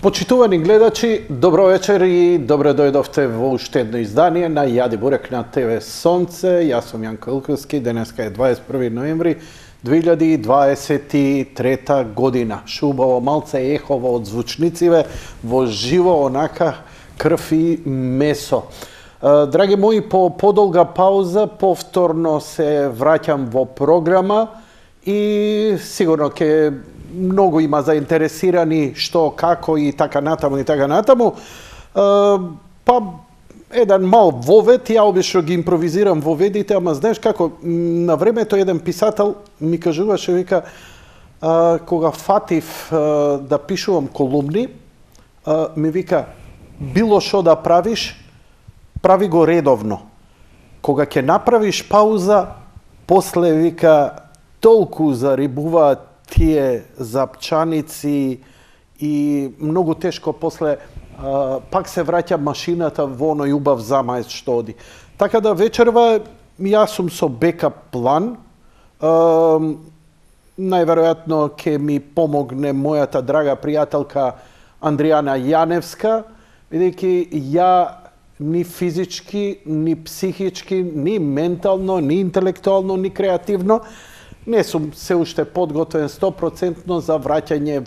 Почитувани гледачи, добро вечер и добре дојдовте во уште едно издание на Јади Бурек на ТВ Сонце. Јас сум Јанко Илковски, денеска е 21 ноември 2023 година. Шубаво малце ехово од звучнициве, во живо онака крв и месо. Драги мои, по подолга пауза повторно се враќам во програма и сигурно ќе многу има заинтересирани што, како и така натаму и така натаму. Па еден мал вовед, ја обично ги импровизирам воведите, ама знаеш како, на времето еден писател ми кажуваше, вика, кога фатив да пишувам колумни, ми вика, било што да правиш, прави го редовно. Кога ќе направиш пауза, после вика, толку зарибуваат тие запчаници и многу тешко после пак се враќа машината во оној убав замаец што оди. Така да вечерва јас сум со бекап план. Најверојатно ќе ми помогне мојата драга пријателка Андријана Јаневска, бидејќи ја ни физички, ни психички, ни ментално, ни интелектуално, ни креативно не сум се уште подготвен 100% за враќање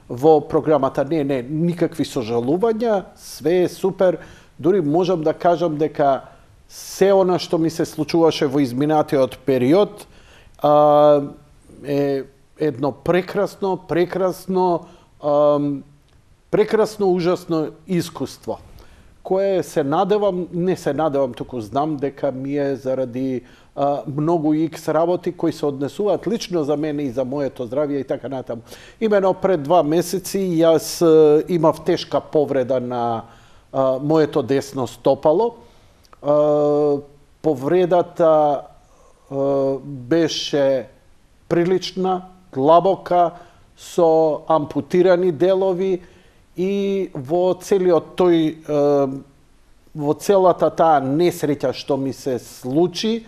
во програмата. Не, никакви сожалувања, све е супер. Дури можам да кажам дека се она што ми се случуваше во изминатиот период е едно прекрасно, ужасно искуство, кое се надевам, не се надевам, туку знам дека ми е заради многу икс работи кои се однесуваат лично за мене и за моето здравје и така натаму. Имено пред 2 месеци јас имав тешка повреда на моето десно стопало. Повредата беше прилична, длабока, со ампутирани делови и во целата таа несреќа што ми се случи,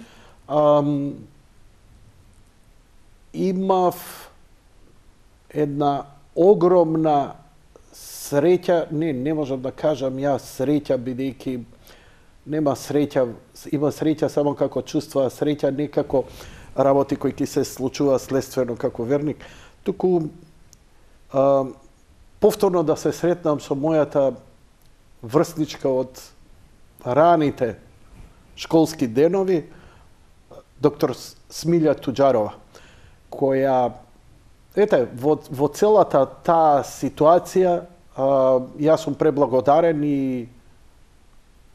имав една огромна среќа, не можам да кажам јас среќа, бидејќи нема среќа, има среќа само како чувства, среќа не како работи кои ќе се случува следствено како верник, туку повторно да се сретнам со мојата врсничка од раните школски денови, доктор Смилја Туџарова, која, во целата таа ситуација, јас сум преблагодарен и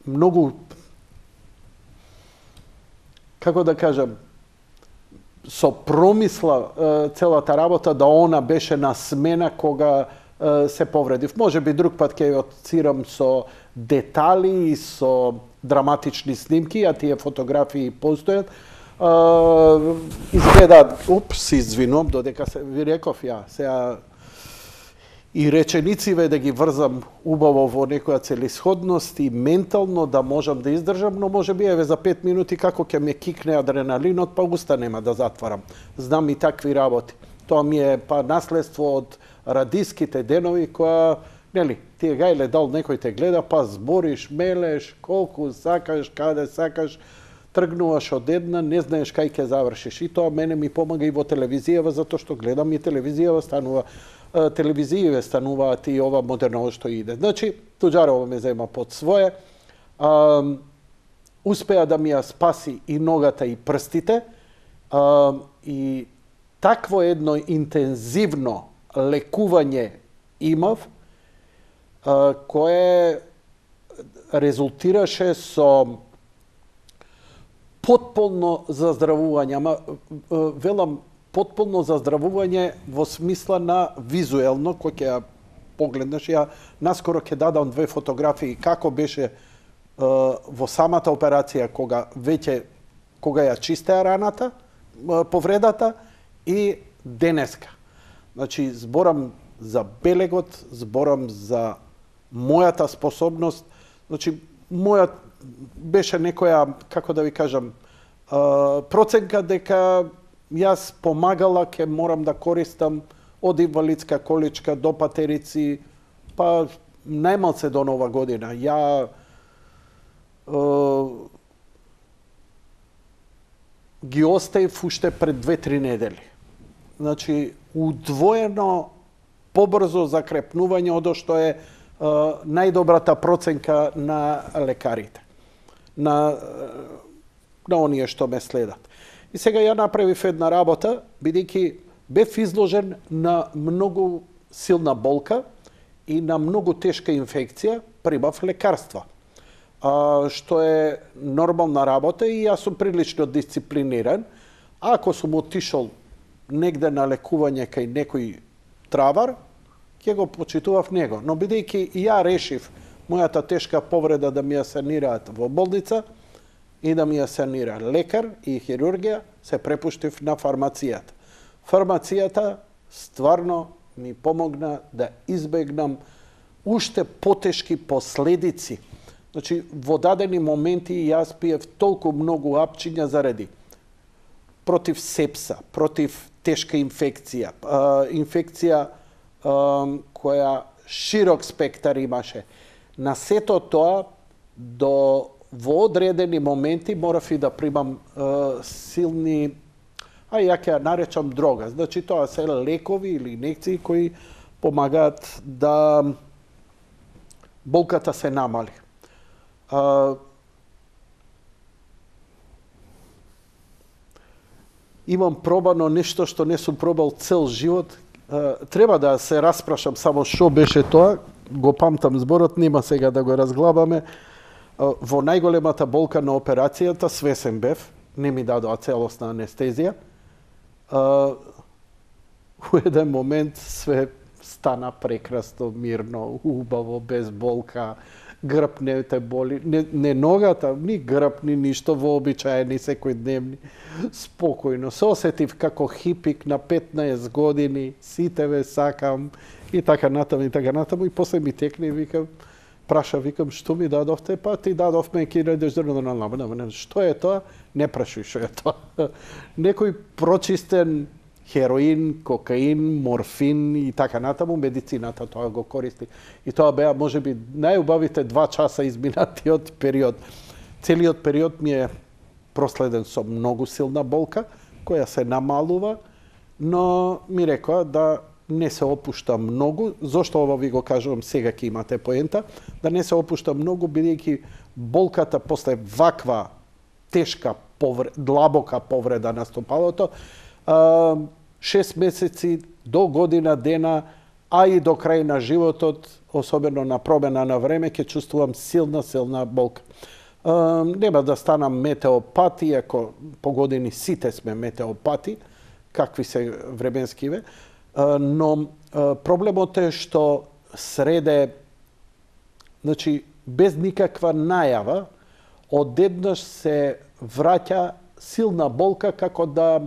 многу, како да кажам, со промисла целата работа да она беше на смена кога се повредив. Може би друг пат ќе отцирам со детали и со драматични снимки, а тие фотографии постојат. Изгледаат, се извинувам, додека ви реков ја, сега и реченициве да ги врзам убаво во некоја целисходност и ментално да можам да издржам, но може би еве за 5 минути како ќе ме кикне адреналинот, па уста нема да затварам. Знам и такви работи. Тоа ми е па наследство од радиските денови која, нели, тие гајле дал некој те гледа, па збориш, мелеш, колку сакаш, каде сакаш, тргнуваш од една, не знаеш кај ќе завршиш. И тоа мене ми помага и во телевизијава, затоа што гледам и телевизијава стануваат и ова модерно што иде. Значи, Туџарова ме зема под своје, успеа да ми ја спаси и ногата и прстите, и такво едно интензивно лекување имав, кое резултираше со потполно заздравување, ама велам потполно заздравување во смисла на визуелно, кој ќе ја погледнеш. Ја наскоро ќе дадам 2 фотографии како беше во самата операција кога ја чистеа раната, повредата и денеска. Значи, зборам за белегот, зборам за мојата способност, значи, мојат беше некоја, како да ви кажам, проценка дека јас помагала ќе морам да користам од инвалидска количка до патерици, па најмалце до нова година. Ја ги оставив уште пред 2-3 недели. Значи, удвоено побрзо закрепнување од што е најдобрата проценка на лекарите, на оние што ме следат. И сега ја направив една работа, бидејќи бев изложен на многу силна болка и на многу тешка инфекција, прибав лекарства. Што е нормална работа и јас сум прилично дисциплиниран. Ако сум отишол негде на лекување кај некој травар, ќе го почитував него. Но бидејќи ја решив мојата тешка повреда да ми ја санираат во болница и да ми ја санира лекар и хирургија, се препуштив на фармацијата. Фармацијата стварно ми помогна да избегнам уште потешки последици. Значи, во дадени моменти јас пиев толку многу апчиња заради против сепса, против тешка инфекција, инфекција која широк спектар имаше. На сето тоа, во одредени моменти морав и да примам силни, ја ќе ја наречам дрога. Значи, тоа се лекови или инекции кои помагаат да болката се намали. Имам пробано нешто што не сум пробал цел живот. Треба да се распрашам само што беше тоа, го памтам зборот, нема сега да го разглабаме. Во најголемата болка на операцијата, свесен бев, не ми дадоа целосна анестезија. У еден момент све стана прекрасно, мирно, убаво, без болка, грб не те боли, не ногата, ни грб, ни ништо, вообичаени секојдневни, спокојно. Се осетив како хипик на 15 години, сите ве сакам, и така натаму, и после ми текне и викам, викам, што ми дадовте? Па ти дадовме ќе идеш што е тоа? Не прашуј што е тоа. Некој прочистен хероин, кокаин, морфин и така натаму, медицината тоа го користи. И тоа беа можеби најубавите 2 часа изминатиот период. Целиот период ми е проследен со многу силна болка, која се намалува, но ми рекоа да не се опушта многу. Зошто ова ви го кажувам, сега ќе имате поента, да не се опушта многу, бидејќи болката после ваква тешка длабока повреда на стопалото, 6 месеци до година дена, а и до крај на животот, особено на промена на време, ќе чувствувам силна болка. Нема да станам метеопат, иако по години сите сме метеопати, какви се временскиве, но проблемот е што среде, значи, без никаква најава, одеднаш се враќа силна болка како да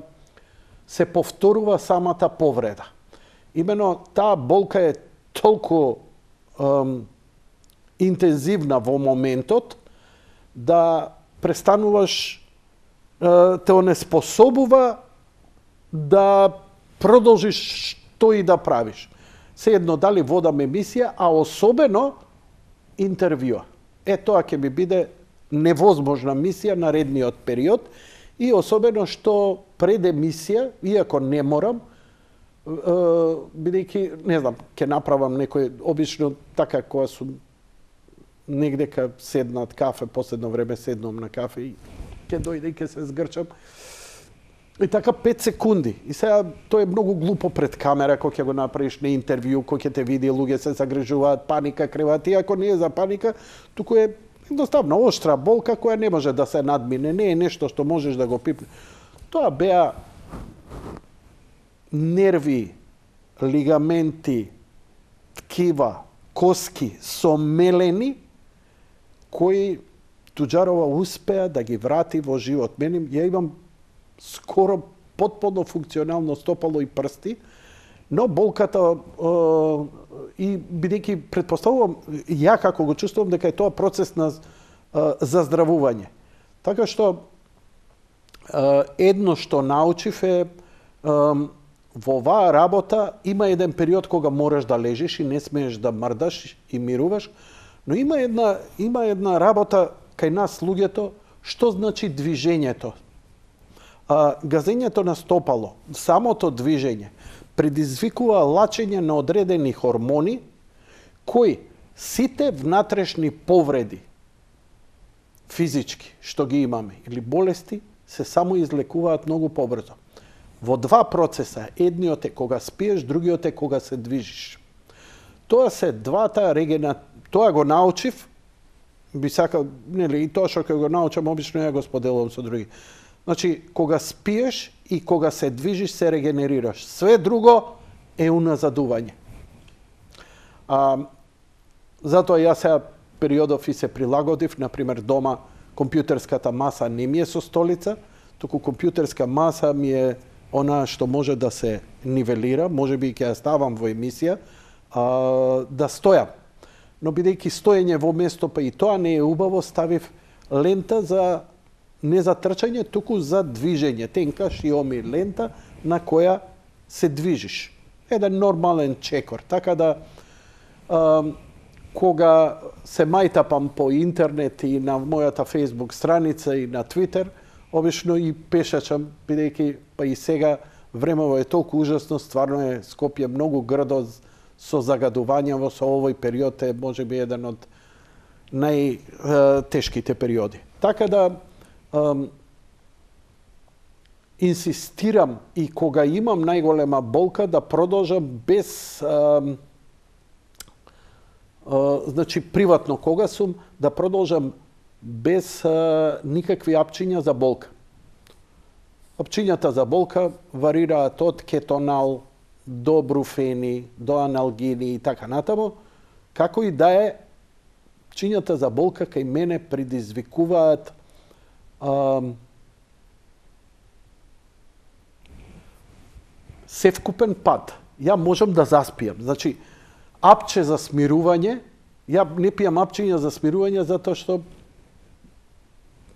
се повторува самата повреда. Имено таа болка е толку интензивна во моментот да престануваш, те онеспособува да продолжиш што и да правиш. Сеедно дали водам емисија, а особено интервјуа. Тоа ќе ми биде невозможна мисија наредниот период и особено што пред емисија, иако не морам, бидејќи, не знам, ќе направам некој, обично така кога сум негде ка седнат кафе, последно време седнам на кафе и ќе дојде и ќе се згрчам. И така 5 секунди. И сега тоа е многу глупо пред камера, кога ќе го направиш на интервју, кога ќе те види, луѓе се загрижуваат, паника криваат, иако не е за паника, туку е едноставно оштра болка која не може да се надмине, не е нешто што можеш да го пипне. Тоа беа нерви, лигаменти, ткива, коски сомелени, кои Туџарова успеа да ги врати во живот. Мене, ја имам скоро потполно функционално стопало и прсти, но болката и бидејќи претпоставувам, ја како го чувствувам дека е тоа процес на заздравување. Така што едно што научив е во оваа работа има еден период кога можеш да лежиш и не смееш да мрдаш и мируваш, но има една работа кај нас луѓето, што значи движењето. Газењето на стопало, самото движење, предизвикува лачење на одредени хормони, кои сите внатрешни повреди, физички, што ги имаме, или болести, се само излекуваат многу побрзо. Во два процеса, едниот е кога спиеш, другиот е кога се движиш. Тоа се двата тоа го научив, би сакал, нели, и тоа што го научам, обично ја го споделувам со други. Значи, кога спиеш и кога се движиш, се регенерираш. Све друго е уназадување. Затоа јас сега периодов и се прилагодив, например, дома компјутерската маса не ми е со столица, туку компјутерска маса ми е она што може да се нивелира, може би ќе ја ставам во емисија, да стојам. Но бидејќи стоење во место, па и тоа не е убаво, ставив лента за не за трчање, туку за движење. Тенка шиоми лента на која се движиш. Еден нормален чекор. Така да, кога се мајтапам по интернет и на мојата Facebook страница и на Twitter, обично и пешачам, бидејќи па и сега времево е толку ужасно, стварно е Скопје многу грдо со загадување со овој период е можеби еден од најтешките периоди. Така да инсистирам и кога имам најголема болка да продолжам без значи приватно кога сум да продолжам без никакви апчиња за болка. Апчињата за болка варираат од кетонал до бруфени, до аналгини и така натаму, како и да е, апчињата за болка кај мене предизвикуваат севкупен пад. Ја можам да заспиам. Значи, апче за смирување, ја не пијам апчиња за смирување затоа што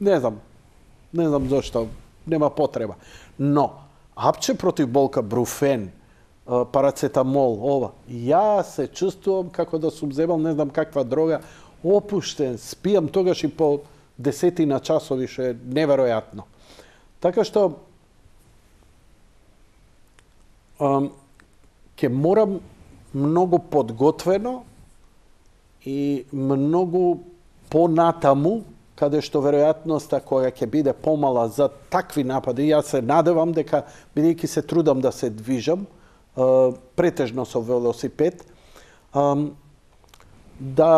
не знам зошто, нема потреба. Но, апче против болка, бруфен, парацетамол, ова, ја се чувствувам како да сум земал не знам каква дрога, опуштен, спијам тогаш и по десетина часови, што е неверојатно. Така што, ќе морам многу подготвено и многу понатаму, каде што веројатноста која ќе биде помала за такви напади, јас се надевам дека, бидејќи се трудам да се движам, претежно со велосипед, да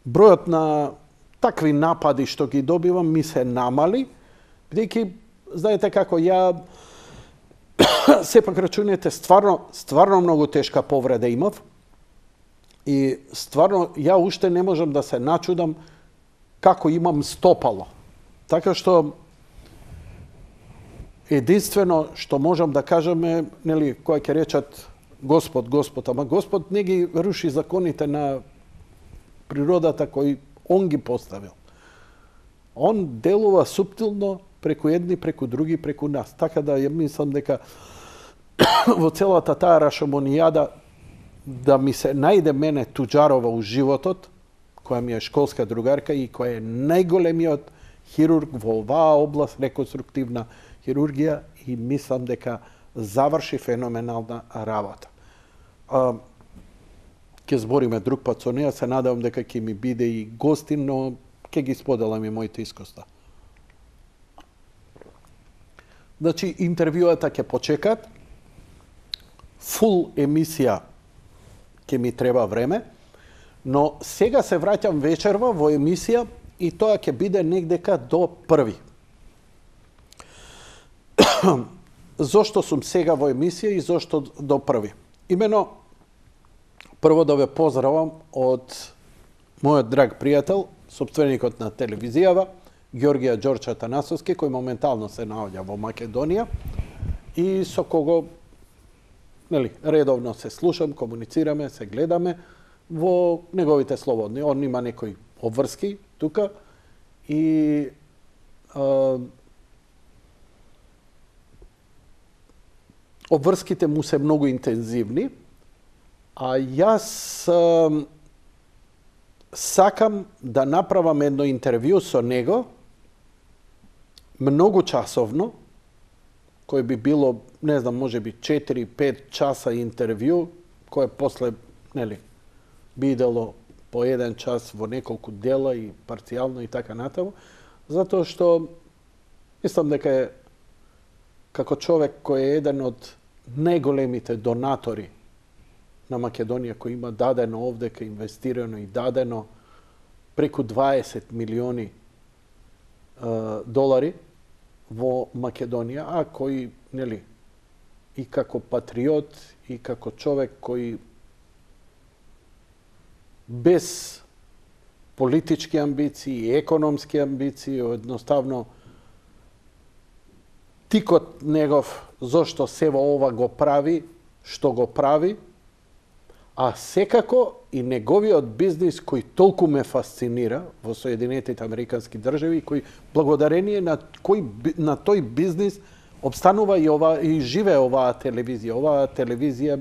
бројот на такви напади што ги добивам ми се намали, бидејќи, знаете како, ја сепак рачунете, стварно многу тешка повреда имав и стварно ја уште не можам да се начудам како имам стопало. Така што единствено што можам да кажам е, нели, кој ќе речат Господ, ама Господ не ги руши законите на природата кои Он ги поставил. Он делува суптилно преку едни, преку други, преку нас. Така да ја мислам дека во целата таа рашомонијада да ми се најде мене туџарова у животот, која ми е школска другарка и која е најголемиот хирург во оваа област, реконструктивна хирургија, и мислам дека заврши феноменална работа. Ќе збориме друг пат со неја, се надевам дека ќе ми биде и гостин, но ќе ги споделам и моите искуства. Значи, интервјуата ќе почекат, фул емисија ќе ми треба време, но сега се враќам вечерва во емисија и тоа ќе биде негдека до 1. Зошто сум сега во емисија и зошто до 1? Имено, прво да ве поздравам од мојот драг пријател, сопственикот на телевизијава, Георгија Ѓорче Атанасовски, кој моментално се наоѓа во Македонија и со кого редовно се слушам, комуницираме, се гледаме во неговите слободни. Он има некои обврски тука и обврските му се многу интензивни, а јас сакам да направам едно интервју со него, многу часовно, кој би било, не знам, може би 4-5 часа интервју, кое после, нели, би идело по 1 час во неколку дела и парцијално и така натаму, затоа што мислам дека е како човек кој е еден од најголемите донатори на Македонија, кој има дадено овдека, инвестирано и дадено преку 20 милиони долари во Македонија, а кој, нели, и како патриот, и како човек кој без политички амбиции и економски амбиции, едноставно тикот негов зошто сево ова го прави, што го прави, а секако и неговиот бизнис кој толку ме фасцинира во Соединетите Американски држави, кој благодарение на тој бизнис обстанува и живее оваа телевизија. Оваа телевизија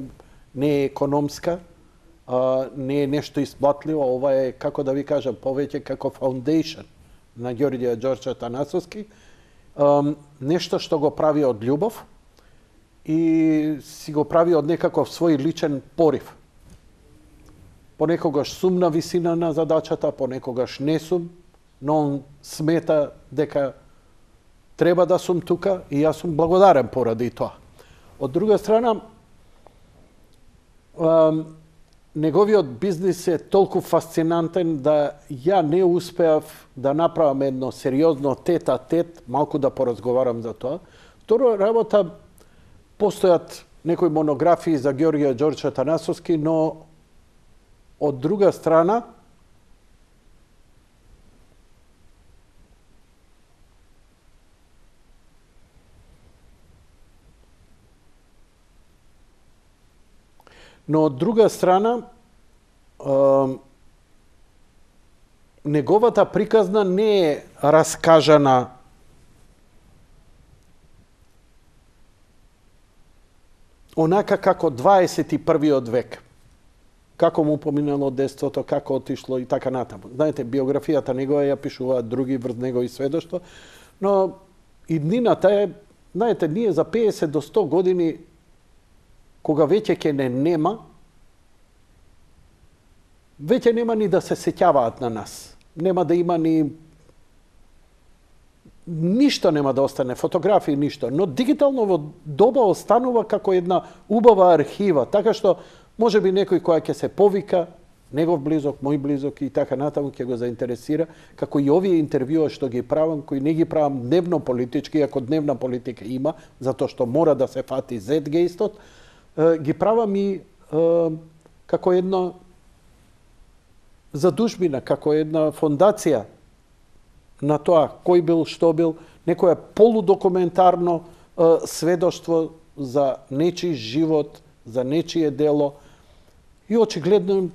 не е економска, не е нешто исплатливо, ова е, како да ви кажам, повеќе како фаундејшн на Ѓорѓе Ѓорче Атанасовски, нешто што го прави од љубов и си го прави од некаков свој личен порив. Понекогаш сум на висина на задачата, понекогаш не сум, но он смета дека треба да сум тука и јас сум благодарен поради тоа. Од друга страна, неговиот бизнис е толку фасцинантен да ја не успеав да направам едно сериозно тет-а-тет, малку да поразговарам за тоа. Второ работа, постојат некои монографии за Ѓорѓе Ѓорче Атанасовски, но од друга страна, неговата приказна не е раскажана онака како 21. век. Како му поминало детството, како отишло и така натаму. Знаете, биографијата негова ја пишуваат други врз негови сведоштва, но иднината е, знаете, ние за 50 до 100 години, кога веќе ќе не нема, веќе нема ни да се сеќаваат на нас. Нема да има ни ништо нема да остане, фотографии, ништо. Но дигитално во доба останува како една убава архива, така што може би некој која ќе се повика, негов близок, мој близок и така натаму ќе го заинтересира, како и овие интервјуа што ги правам, кои не ги правам дневно политички, ако дневна политика има, затоа што мора да се фати зетгејстот, ги правам и како една задужбина, како една фондација на тоа кој бил, што бил, некоја полудокументарно сведоштво за нечи живот, за нечие дело и очигледно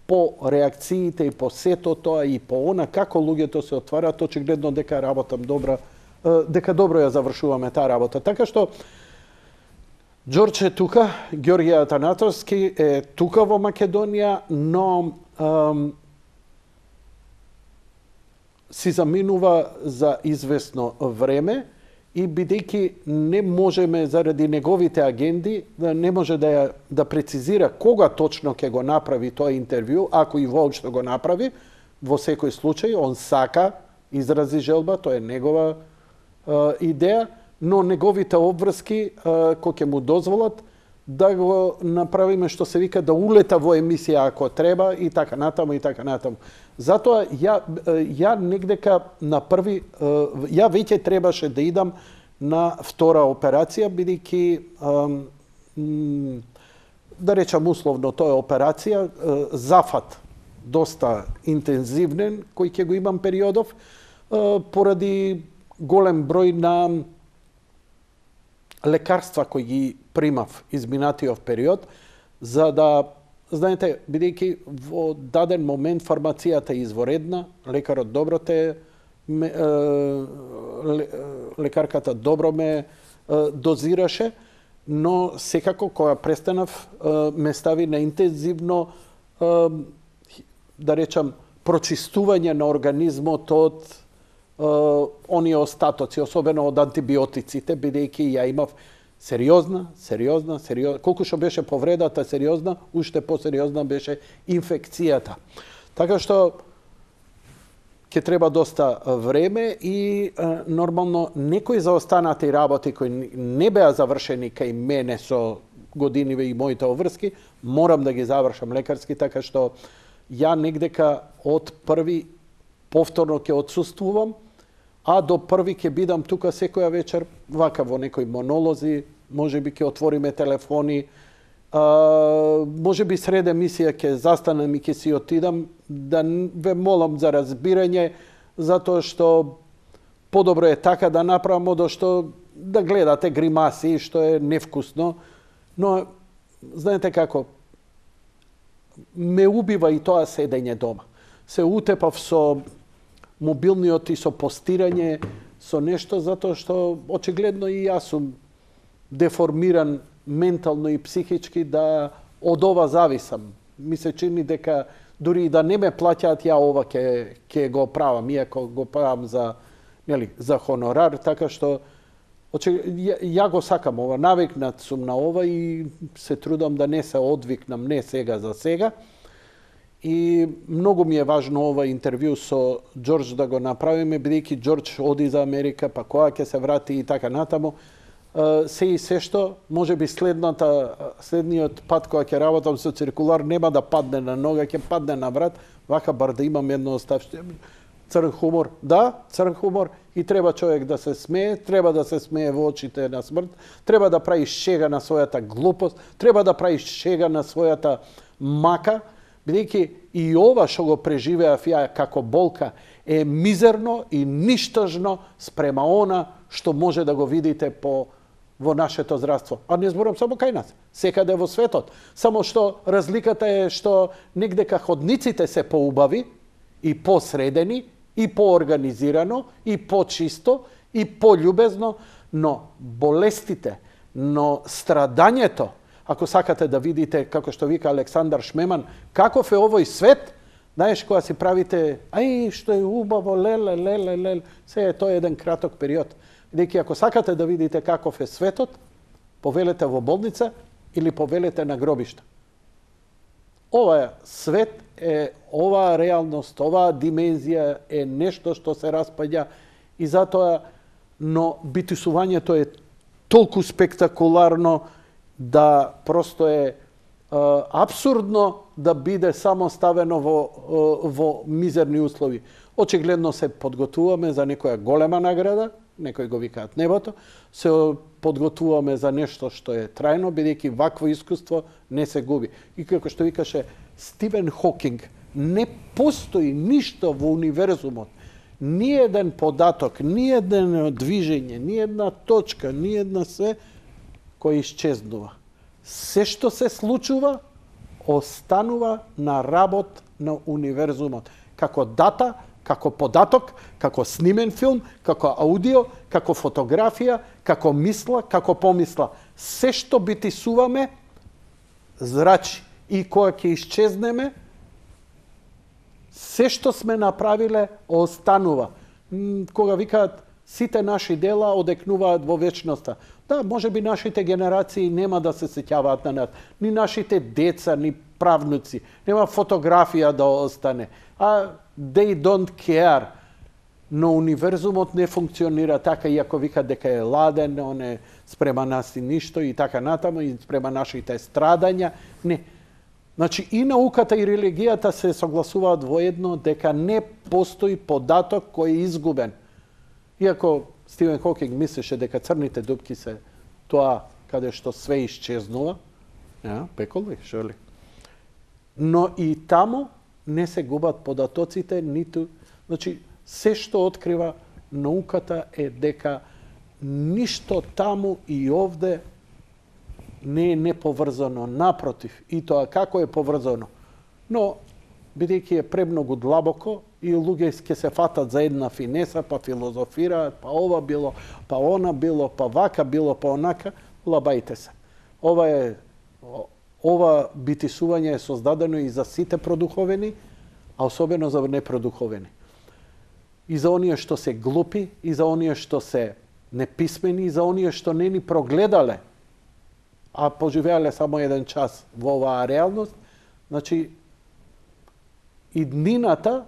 по реакциите и по сето тоа и по она како луѓето се отвараат, очигледно дека работам добра, дека добро ја завршуваме таа работа. Така што Ѓорче е тука, Ѓорѓе Атанасовски е тука во Македонија, но си заминува за известно време и бидејќи не можеме заради неговите агенди, не може да прецизира кога точно ќе го направи тоа интервју, ако и воопшто го направи, во секој случај, он сака, изрази желба, тоа е негова идеја, но неговите обврски, кој ќе му дозволат, да го направиме што се вика да улета во емисија ако треба и така натаму и така натаму. Затоа ја негдека на први, ја веќе требаше да идам на втора операција, бидејќи да речам условно тоа е операција, зафат доста интензивнен кој ќе го имам периодов поради голем број на лекарства кои ги примав изминатиот период, за да, знаете, бидејќи во даден момент фармацијата е изворедна, лекарот добро те, лекарката добро ме дозираше, но секако кога престанав ме стави на интензивно да речам прочистување на организмот од оние остатоци, особено од антибиотиците, бидејќи ја имав сериозна, колку што беше повредата сериозна, уште посериозна беше инфекцијата. Така што ќе треба доста време и нормално некои заостанати работи кои не беа завршени кај мене со годиниве и моите обврски, морам да ги завршам лекарски, така што ја негдека од први повторно ќе отсуствувам, а до први ќе бидам тука секоја вечер, вака во некои монолози, можеби ќе отвориме телефони, можеби сред емисија ќе застанам и ќе си отидам, да ве молам за разбирање, затоа што подобро е така да направам, одошто да гледате гримаси, што е невкусно, но знаете како, ме убива и тоа седење дома. Се утепав со мобилниот и со постирање, со нешто, затоа што очигледно и јас сум деформиран ментално и психички да од ова зависам. Ми се чини дека дури и да не ме плаќаат, ја ова ќе го правам, иако го правам за хонорар, така што ја го сакам ова, навикнат сум на ова и се трудам да не се одвикнам, не сега за сега. И многу ми е важно ова интервју со Џорџ да го направиме, бидејќи Џорџ оди за Америка, па кога ќе се врати и така натаму. Се и се што, можеби следниот пат кога ќе работам со циркулар нема да падне на нога, ќе падне на врат, вака бар да имам едно оставште. Црн хумор, да, црн хумор, и треба човек да се смее, треба да се смее во очите на смрт, треба да прави шега на својата глупост, треба да прави шега на својата мака, бидејќи и ова што го преживеав ја како болка е мизерно и ништожно спрема она што може да го видите во нашето здравство. А не зборам само кај нас, секаде во светот. Само што разликата е што негдека ходниците се поубави и посредени, и поорганизирано, и почисто, и пољубезно, но болестите, но страдањето, ако сакате да видите, како што вика Александар Шмеман, каков е овој свет, знаеш, кога си правите, ај, што е убаво, леле, се е тоа еден краток период. Бидејќи ако сакате да видите каков е светот, повелете во болница или повелете на гробишта. Ова свет е, оваа реалност, оваа димензија е нешто што се распаѓа и затоа, но битисувањето е толку спектакуларно да просто е апсурдно да биде само ставено во мизерни услови. Очигледно се подготвуваме за некоја голема награда, некои го викаат небото, се подготвуваме за нешто што е трајно, бидејќи вакво искуство не се губи. И како што викаше Стивен Хокинг, не постои ништо во универзумот, ни еден податок, ни едно движење, ни една точка, ни една све кој исчезнува. Се што се случува, останува на работ на универзумот. Како дата, како податок, како снимен филм, како аудио, како фотографија, како мисла, како помисла. Се што битисуваме, зрачи. И кога ќе исчезнеме, се што сме направиле, останува. Кога викаат, сите наши дела одекнуваат во вечноста. Да, може би нашите генерации нема да се сеќаваат на нас. Ни нашите деца, ни правнуци. Нема фотографија да остане. А they don't care. Но универзумот не функционира така, иако вика дека е ладен, он е спрема нас и ништо и така натаму, и спрема нашите страдања. Не. Значи и науката и религијата се согласуваат во едно дека не постои податок кој е изгубен. Иако Стивен Хокинг мислеше дека црните дупки се тоа каде што све исчезнува, пекол ли, шо ли? Но и таму не се губат податоците, ниту... Значи, се што открива науката е дека ништо таму и овде не е неповрзано, напротив, и тоа како е поврзано. Но, бидејќи е премногу длабоко, и луѓе ќе се фатат за една финеса, па филозофираат, па ова било, па она било, па вака било, па онака, лабајте се. ова битисување е создадено и за сите продуховени, а особено за непродуховени. И за оние што се глупи, и за оние што се неписмени, и за оние што не ни прогледале, а поживеале само еден час во оваа реалност. Значи, и днината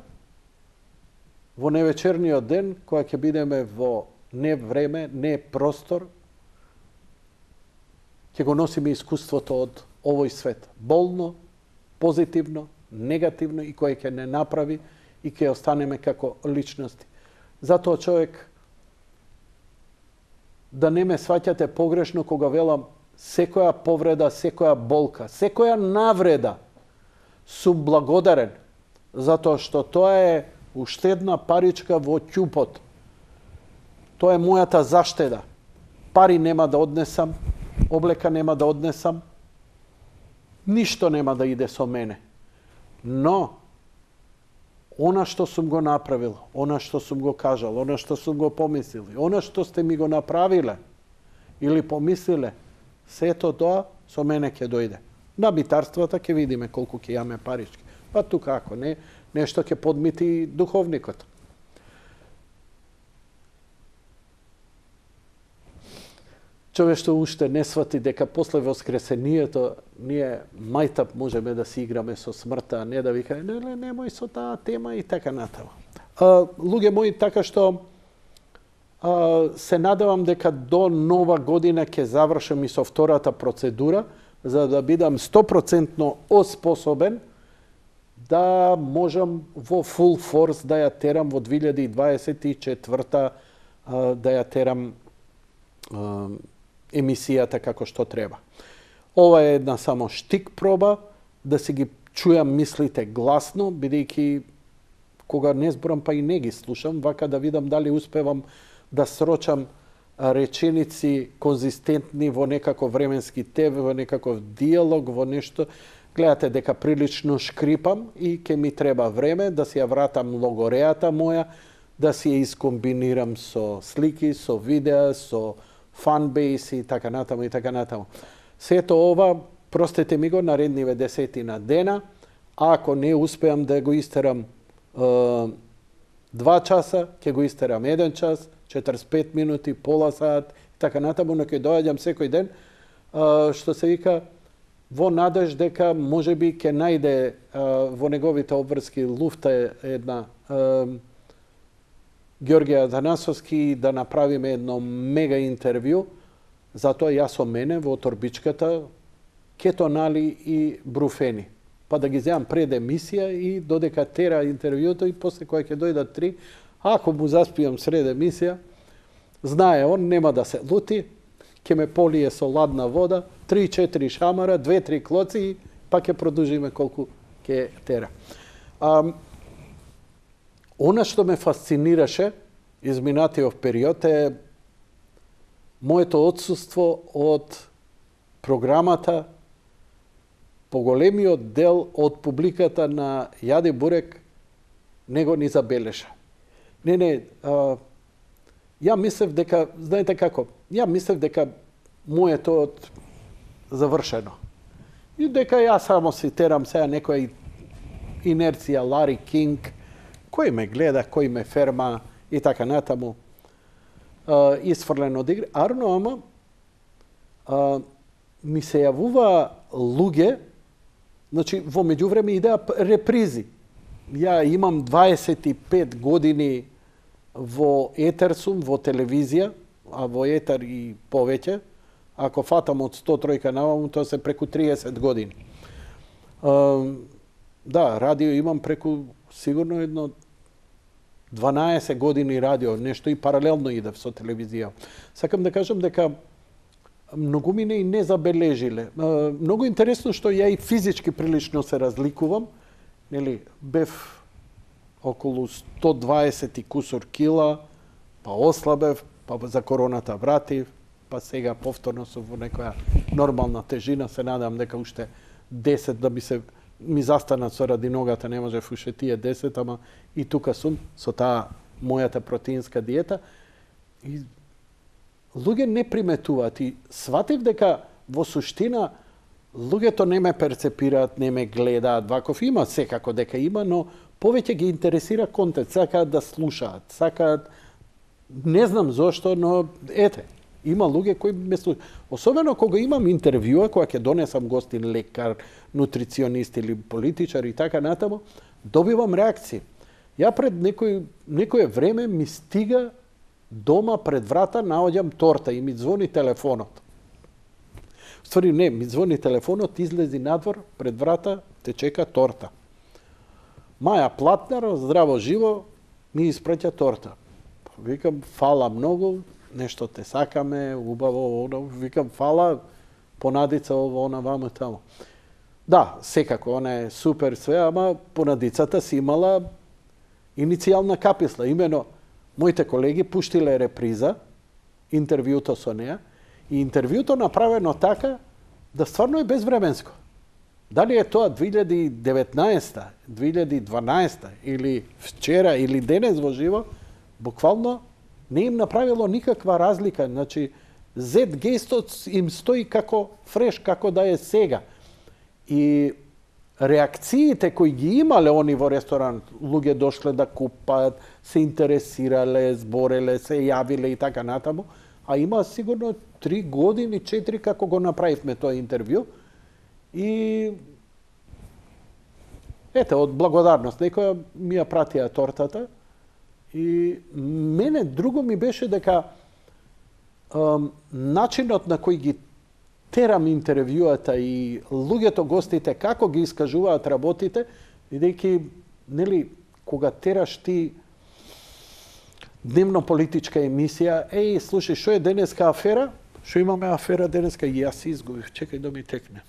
во невечерниот ден, кога ќе бидеме во не време, не простор, ќе го носиме искуството од овој свет. Болно, позитивно, негативно и кој ќе не направи и ќе останеме како личности. Затоа човек, да не ме сваќате погрешно кога велам секоја повреда, секоја болка, секоја навреда сум благодарен, затоа што тоа е уште една паричка во ќупот. Тоа е мојата заштеда. Пари нема да однесам, облека нема да однесам, ништо нема да иде со мене. Но, она што сум го направил, она што сум го кажал, она што сум го помислил, она што сте ми го направиле или помислиле, сето тоа со мене ќе дојде. На битарствата ќе видиме колку ќе јаме парички. Па тука ако не, нешто ќе подмити духовникот. Човештво уште не свати дека после воскресението ние мајтап можеме да си играме со смртта, а не да викаме немој со таа тема и така натаму. Луѓе мои, така што се надевам дека до нова година ќе завршам и со втората процедура, за да бидам 100% оспособен да можам во full force да ја терам во 2024 да ја терам емисијата како што треба. Ова е една само штик проба, да си ги чујам мислите гласно, бидејќи кога не зборам па и не ги слушам, вака да видам дали успевам да срочам реченици конзистентни во некаков временски тев, во некаков диалог, во нешто. Гледате дека прилично шкрипам и ќе ми треба време да си ја вратам логорејата моја, да си ја искомбинирам со слики, со видеа, со фанбейс и така натаму и така натаму. Сето ова, простете ми го, наредниве 10 дена, а ако не успеам да го истерам 2 часа, ќе го истерам 1 час, 45 минути, пола сат и така натаму, но ќе доаѓам секој ден, што се вика, во надеж дека можеби ќе најде во неговите обврски луфта една Георгија Атанасовски да направиме едно мега интервју, затоа јас со мене во торбичката кетонали и бруфени. Па да ги земам пред емисија и додека тера интервјуто и после која ќе дојдат 3, ако му заспијам сред емисија, знае он, нема да се лути, ќе ме полие со ладна вода, 3-4 шамара, 2-3 клоци и па ќе продолжиме колку ќе тера. Она што ме фасцинираше изминатиот период е моето отсуство од програмата. Поголемиот дел од публиката на Јаде Бурек него ни забележа. Ја мислев дека, знаете како, ја мислев дека моето завршено. И дека ја само си терам сега некоја инерција Лари Кинг, кој ме гледа, кој ме ферма и така натаму, исфрлен од игри. Ама ми се јавува луѓе, значи во меѓувреме идеа репризи. Ја имам 25 години во етер сум, во телевизија, а во етер и повеќе. Ако фатам од 103 наваму, тоа се преку 30 години. Да, радио имам преку сигурно едно 12 години радио, нешто и паралелно идев со телевизија. Сакам да кажам дека многу мине и не забележиле. Многу интересно што ја и физички прилично се разликувам. Нели, бев околу 120 и кусор кила, па ослабев, па за короната вратив, па сега повторно сум во некоја нормална тежина. Се надам дека уште 10 да ми застанат со ради ногата, не можев уште тие 10, ама и тука сум со таа мојата протеинска диета. И луѓе не приметуваат и сватив дека во суштина луѓето не ме перцепираат, не ме гледаат, ваков има секако дека има, но повеќе ги интересира контент, сакаат да слушаат, сакаат, не знам зошто, но ете, има луѓе кои ме слушаат. Особено кога имам интервјуа, кога ќе донесам гостин лекар, нутриционист или политичар и така натаму, добивам реакции. Ја пред некое време ми стига дома пред врата, наоѓам торта и ми звони телефонот. Ствари, не, ми звони телефонот, излези надвор, пред врата, те чека торта. Маја Платнар, здраво живо, ми испраќа торта. Викам, фала многу, нешто те сакаме, убаво, оно, викам, фала, понадица ово, она, вамо, тамо. Да, секако, она е супер све, ама понадицата си имала иницијална каписла. Имено, моите колеги пуштиле реприза, интервјуто со неа, и интервјуто направено така да стварно е безвременско. Дали е тоа 2019, 2012 или вчера или денес во живо, буквално не им направило никаква разлика. Значи, Z-гестот им стои како фреш, како да е сега. И реакциите кои ги имале они во ресторан, луѓе дошле да купаат, се интересирале, збореле, се јавиле и така натаму, а има сигурно 3 години, 4 како го направивме тоа интервју. И ете, од благодарност, некоја ми ја пратија тортата. И мене друго ми беше дека начинот на кој ги терам интервјуата и луѓето, гостите, како ги искажуваат работите, бидејќи, нели, кога тераш ти дневно политичка емисија, слушај, што е денеска афера? Што имаме афера денеска? И јас изгубив, чекај да ми текне.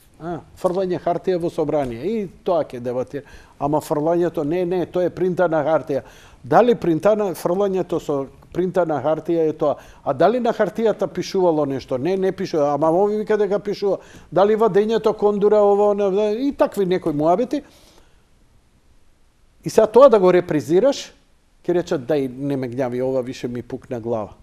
Фрлање хартија во собрание. И тоа ќе дебатира. Ама фрлањето, не, тоа е принтана хартија. Дали фрлањето со принтана хартија е тоа? А дали на хартијата пишувало нешто? Не пишува. Ама ови вика дека пишува. Дали вадењето кондура, ово, и такви некои муабети. И сега тоа да го репризираш, ќе речат, дај, не ме гњави, ова више ми пукна глава.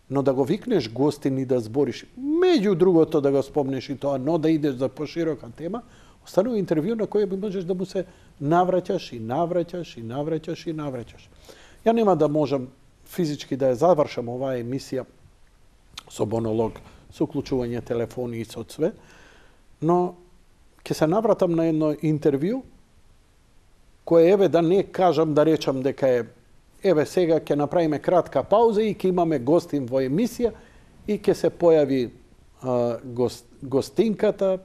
Но да го викнеш гостин и да збориш, меѓу другото да го спомнеш и тоа, но да идеш за поширока тема, останува интервју на кој можеш да му се навраќаш и навраќаш и навраќаш и навраќаш. Ја нема да можам физички да ја завршам оваа емисија со монолог, со уклучување телефони и со све, но ќе се навратам на едно интервју кое, еве, да не кажам, да речам дека е, еве, сега ќе направиме кратка пауза и ќе имаме гостин во емисија и ќе се појави гостинката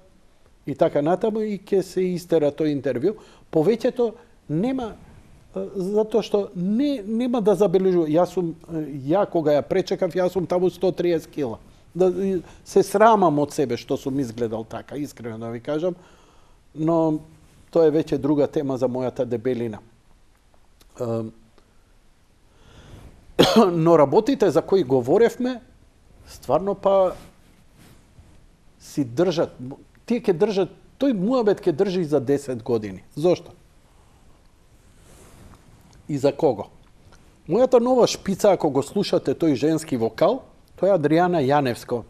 и така натаму и ќе се истера тој интервју. Повеќето нема, затоа што нема да забележува. Ја кога ја пречекав, јас сум таму 130 кила. Да се срамам од себе што сум изгледал така, искрено да ви кажам, но тоа е веќе друга тема за мојата дебелина. Но работите за кои говоревме, стварно па си држат. Тие ќе држат, тој муабет ќе држи за 10 години. Зошто? И за кого? Мојата нова шпица, ако го слушате тој женски вокал, тоа е Адријана Јаневска.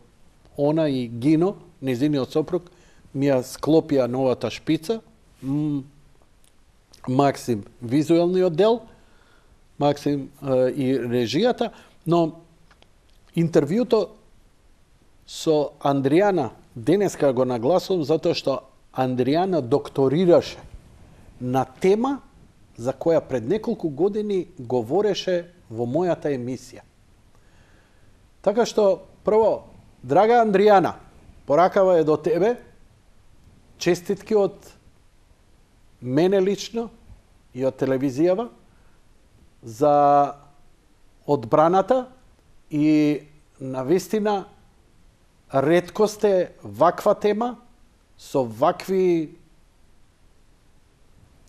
Она и Гино, незиниот сопруг, ми ја склопија новата шпица. Максим визуелниот дел, Максим и режијата, но интервјуто со Андријана денеска го нагласувам затоа што Андријана докторираше на тема за која пред неколку години говореше во мојата емисија. Така што, прво, драга Андријана, поракава е до тебе, честитки од мене лично и од телевизијава за одбраната и навистина ретко сте ваква тема со вакви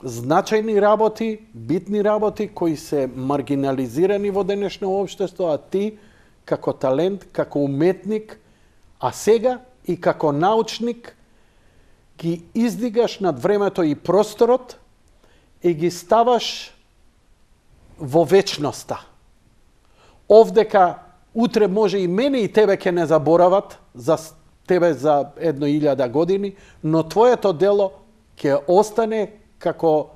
значајни работи, битни работи кои се маргинализирани во денешно општество, а ти како талент, како уметник, а сега и како научник ги издигаш над времето и просторот и ги ставаш во вечноста. Овдека утре може и мене и тебе ќе не заборават за тебе за 1000 години, но твоето дело ќе остане како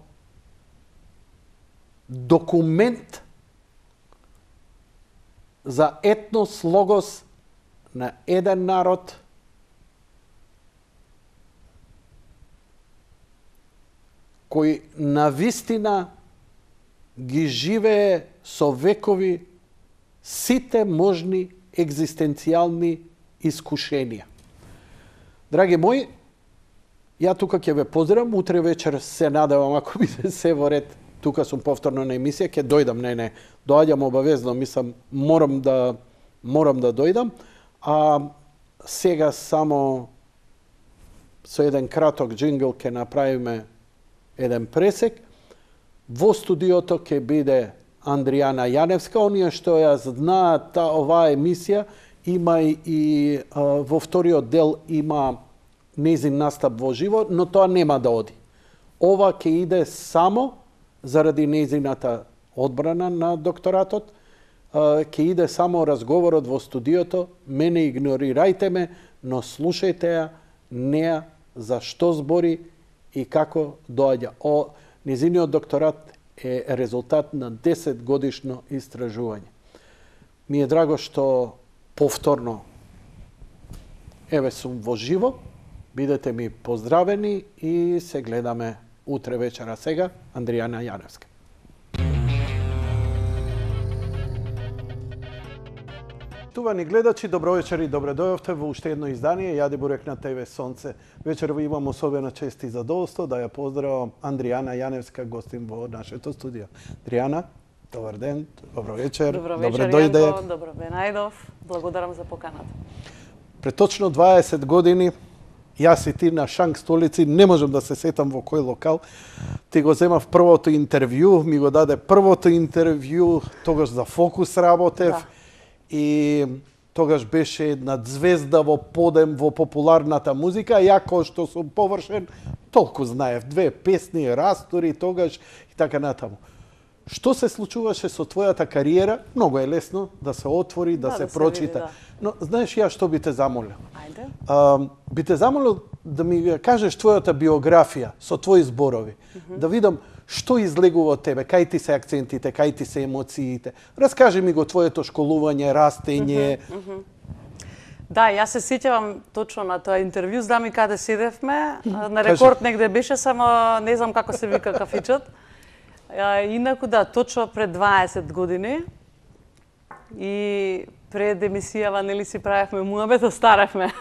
документ за етнос, логос на еден народ кој навистина ги живее со векови сите можни екзистенцијални искушенија. Драги мои, ја тука ќе ве поздравам, утре вечер се надевам, ако биде се во ред, тука сум повторно на емисија, ќе дојдам, не, доаѓам обавезно, мислам, морам да дојдам, а сега само со еден краток джингл ќе направиме еден пресек. Во студиото ќе биде Андријана Јаневска, оние што ја знаат оваа емисија, има и во вториот дел има нејзин настап во живо, но тоа нема да оди. Ова ќе иде само заради нејзината одбрана на докторатот, ќе иде само разговорот во студиото, мене игнорирајте ме, но слушајте ја, неа, за што збори и како доаѓа. Нејзиниот докторат е резултат на 10 годишно истражување. Ми е драго што повторно еве сум во живо, бидете ми поздравени и се гледаме утре вечера. Сега Андријана Јаневска. Штувани гледачи, добро вечер и добре дојавте во уште едно издание Јади бурек на ТВ Сонце. Вечерва имам особена чест и задоволство да ја поздравам Андријана Јаневска, гостин во нашето студио. Андријана, добар ден, добро вечер. Добро вечер, дојде. Јанко, добро бе најдов. Благодарам за поканата. Пред точно 20 години јас и ти на Шанк столици, не можам да се сетам во кој локал, ти го земав првото интервју, ми го даде првото интервју, тогаш за Фокус работев. Да. И тогаш беше една звезда во подем во популарната музика, ја кој што сум површен, толку знаев, 2 песни, растори тогаш и така натаму. Што се случуваше со твојата кариера? Многу е лесно да се отвори, да се прочита. Види, да. Но знаеш ја што би те замолил? Ајде. Би те замолил да ми кажеш твојата биографија со твои зборови. Да видам што излегува од тебе, кај ти се акцентите, кај ти се емоциите. Раскажи ми го твоето школување, растење. Да, јас се сеќавам точно на тоа интервју, знам и каде седевме, на рекорд негде беше, само не знам како се вика кафичот. Инаку да, точно пред 20 години и пред емисијава, нели си правевме муабет, остаравме.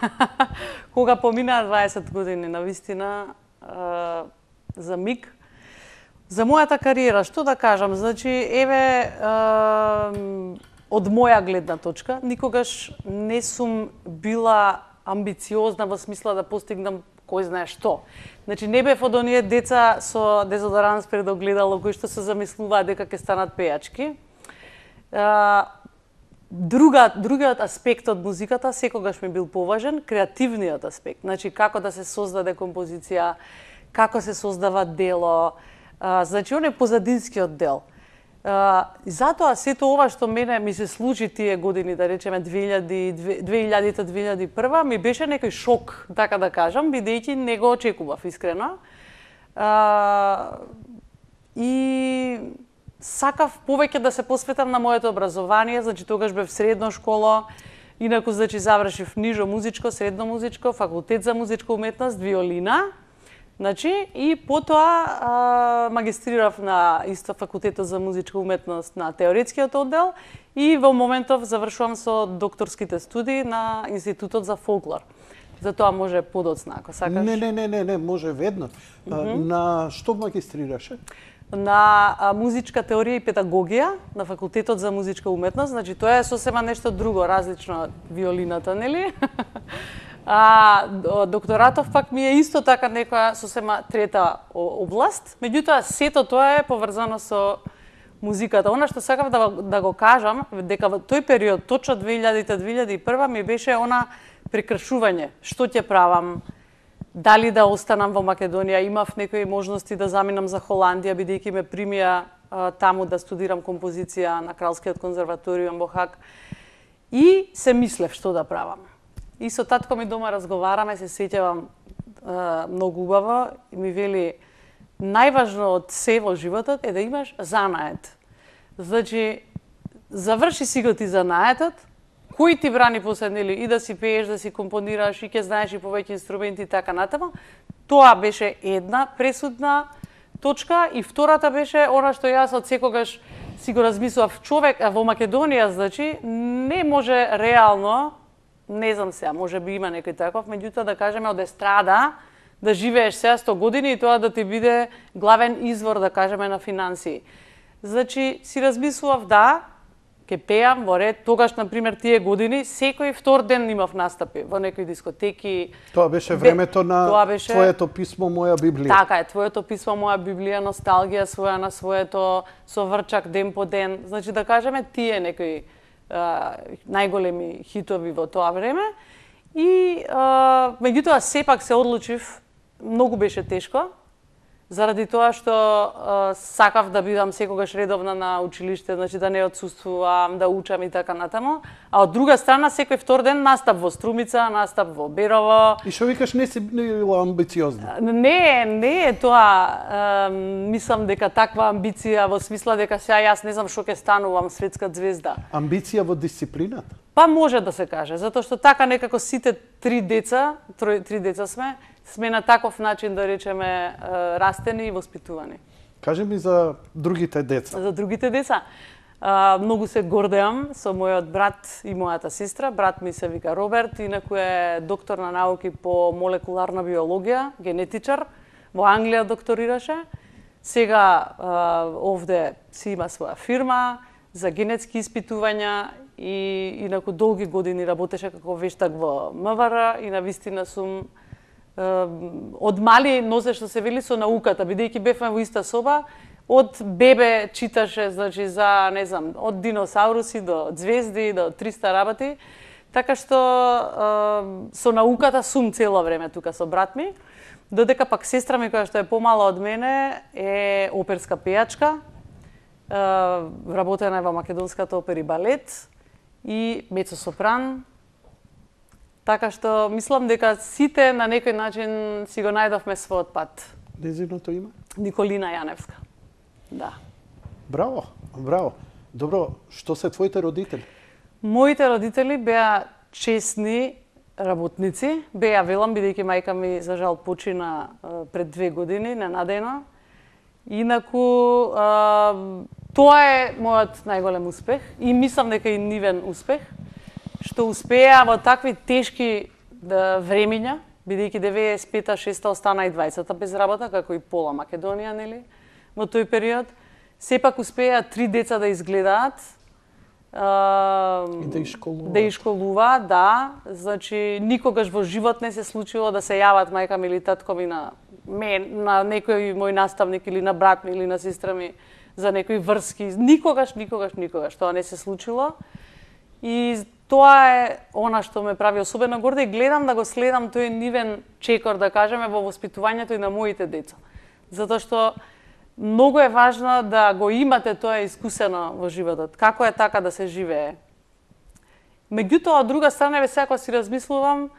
Кога поминаа 20 години, навистина, за миг, за мојата кариера, што да кажам, значи, еве, од моја гледна точка, никогаш не сум била амбициозна во смисла да постигнам кој знае што. Значи, не бев од оние деца со дезодоранс пред огледало кои што се замислуваат дека ќе станат пејачки. Другиот аспект од музиката секогаш ми бил поважен, креативниот аспект. Значи, како да се создаде композиција, како се создава дело, значи, он е позадинскиот дел. И затоа сето ова што мене ми се случи тие години, да речеме 2000-2001, ми беше некој шок, така да кажам, бидејќи не го очекував искрено. И сакав повеќе да се посветам на моето образование, значи тогаш бев средно школа, инаку значи завршив нижо музичко, средно музичко, факултет за музичка уметност, виолина. Значи, и потоа магистрирав на исто факултетот за музичка уметност на теоретскиот оддел и во моментов завршувам со докторските студии на Институтот за фолклор. Затоа може подоцна, ако сакаш. Не, може веднаш. На што магистрираше? На музичка теорија и педагогија на факултетот за музичка уметност. Значи, тоа е сосема нешто друго, различно од виолината, нели? Докторатов пак ми е исто така некоја сосема трета област, меѓутоа сето тоа е поврзано со музиката. Она што сакав да го кажам, дека во тој период, точно 2000-2001, ми беше она прекршување. Што ќе правам? Дали да останам во Македонија? Имав некои можности да заминам за Холандија, бидејќи ме примија таму да студирам композиција на Кралскиот конзерваториум во Хаг. И се мислев што да правам. и со татко ми дома разговараме, се сеќавам многу убаво и ми вели најважно од се во животот е да имаш занает. Значи, заврши си го ти занаетот, кој ти брани после, нели, и да си пееш, да си компонираш, и ќе знаеш и повеќе инструменти и така натаму. Тоа беше една пресудна точка и втората беше она што јас од секогаш си го размислував, човек во Македонија, значи, не може реално, не знам сега, може би има некој таков, меѓутоа да кажеме од естрада, да живееш сега 100 години и тоа да ти биде главен извор, да кажеме, на финансии. Значи, си размислував, да, ке пеам во ред, тогаш, например, тие години, секој втор ден имав настапи во некои дискотеки. Тоа беше времето на твоето писмо Моја Библија. Така е, твоето писмо Моја Библија, носталгија своја на своето, со врчак ден по ден. Значи, да кажеме, тие некои најголеми хитови во тоа време. И, меѓутоа, сепак се одлучив, многу беше тешко, заради тоа што сакав да бидам секогаш редовна на училиште, значи да не отсуствувам, да учам и така натаму. А од друга страна, секој втор ден настап во Струмица, настап во Берово. И што викаш, не си била амбициозна? Не е тоа. Мислам дека таква амбиција во смисла дека сега јас не знам што ќе станувам светска звезда. Амбиција во дисциплината? Па може да се каже, затоа што така некако сите три деца сме на таков начин, да речеме, растени и воспитувани. Кажи ми за другите деца. За другите деца. Многу се гордеам со мојот брат и мојата сестра. Брат ми се вика Роберт, инаку е доктор на науки по молекуларна биологија, генетичар. Во Англија докторираше. Сега овде си има своја фирма за генетски испитувања и инаку долги години работеше како вештак во МВР и навистина сум од мали носе што се вели со науката, бидејќи бевме во иста соба, од бебе читаше, значи, за, не знам, од диносауруси до звезди, до 300 работи, така што со науката сум цело време тука со брат ми, додека пак сестра ми, која што е помала од мене, е оперска пејачка, работена е во Македонската опера и балет и мецо-сопран. Така што мислам дека сите на некој начин си го најдовме својот пат. Незиното име? Николина Јаневска. Да. Браво, браво. Добро, што се твоите родители? Моите родители беа честни работници. Беа, велам, бидејќи мајка ми за жал почина пред 2 години, ненадејно. Инаку, тоа е мојот најголем успех и мислам дека и нивен успех, што успеа во такви тешки времиња, бидејќи 95-6 остана и 20-та без работа, како и пола Македонија, нели, во тој период. Сепак успеа 3 деца да изгледаат, и да ишколуваат, да. Значи, никогаш во живот не се случило да се јават мајка ми или татко ми на некој мој наставник или на брат ми или на сестра ми за некои врски. Никогаш тоа не се случило. И тоа е она што ме прави особено горда и гледам да го следам тој нивен чекор, да кажеме, во воспитувањето и на моите деца. Затоа што многу е важно да го имате тоа искусено во животот. Како е така да се живее. Меѓутоа, од друга страна, сега кога си размислувам,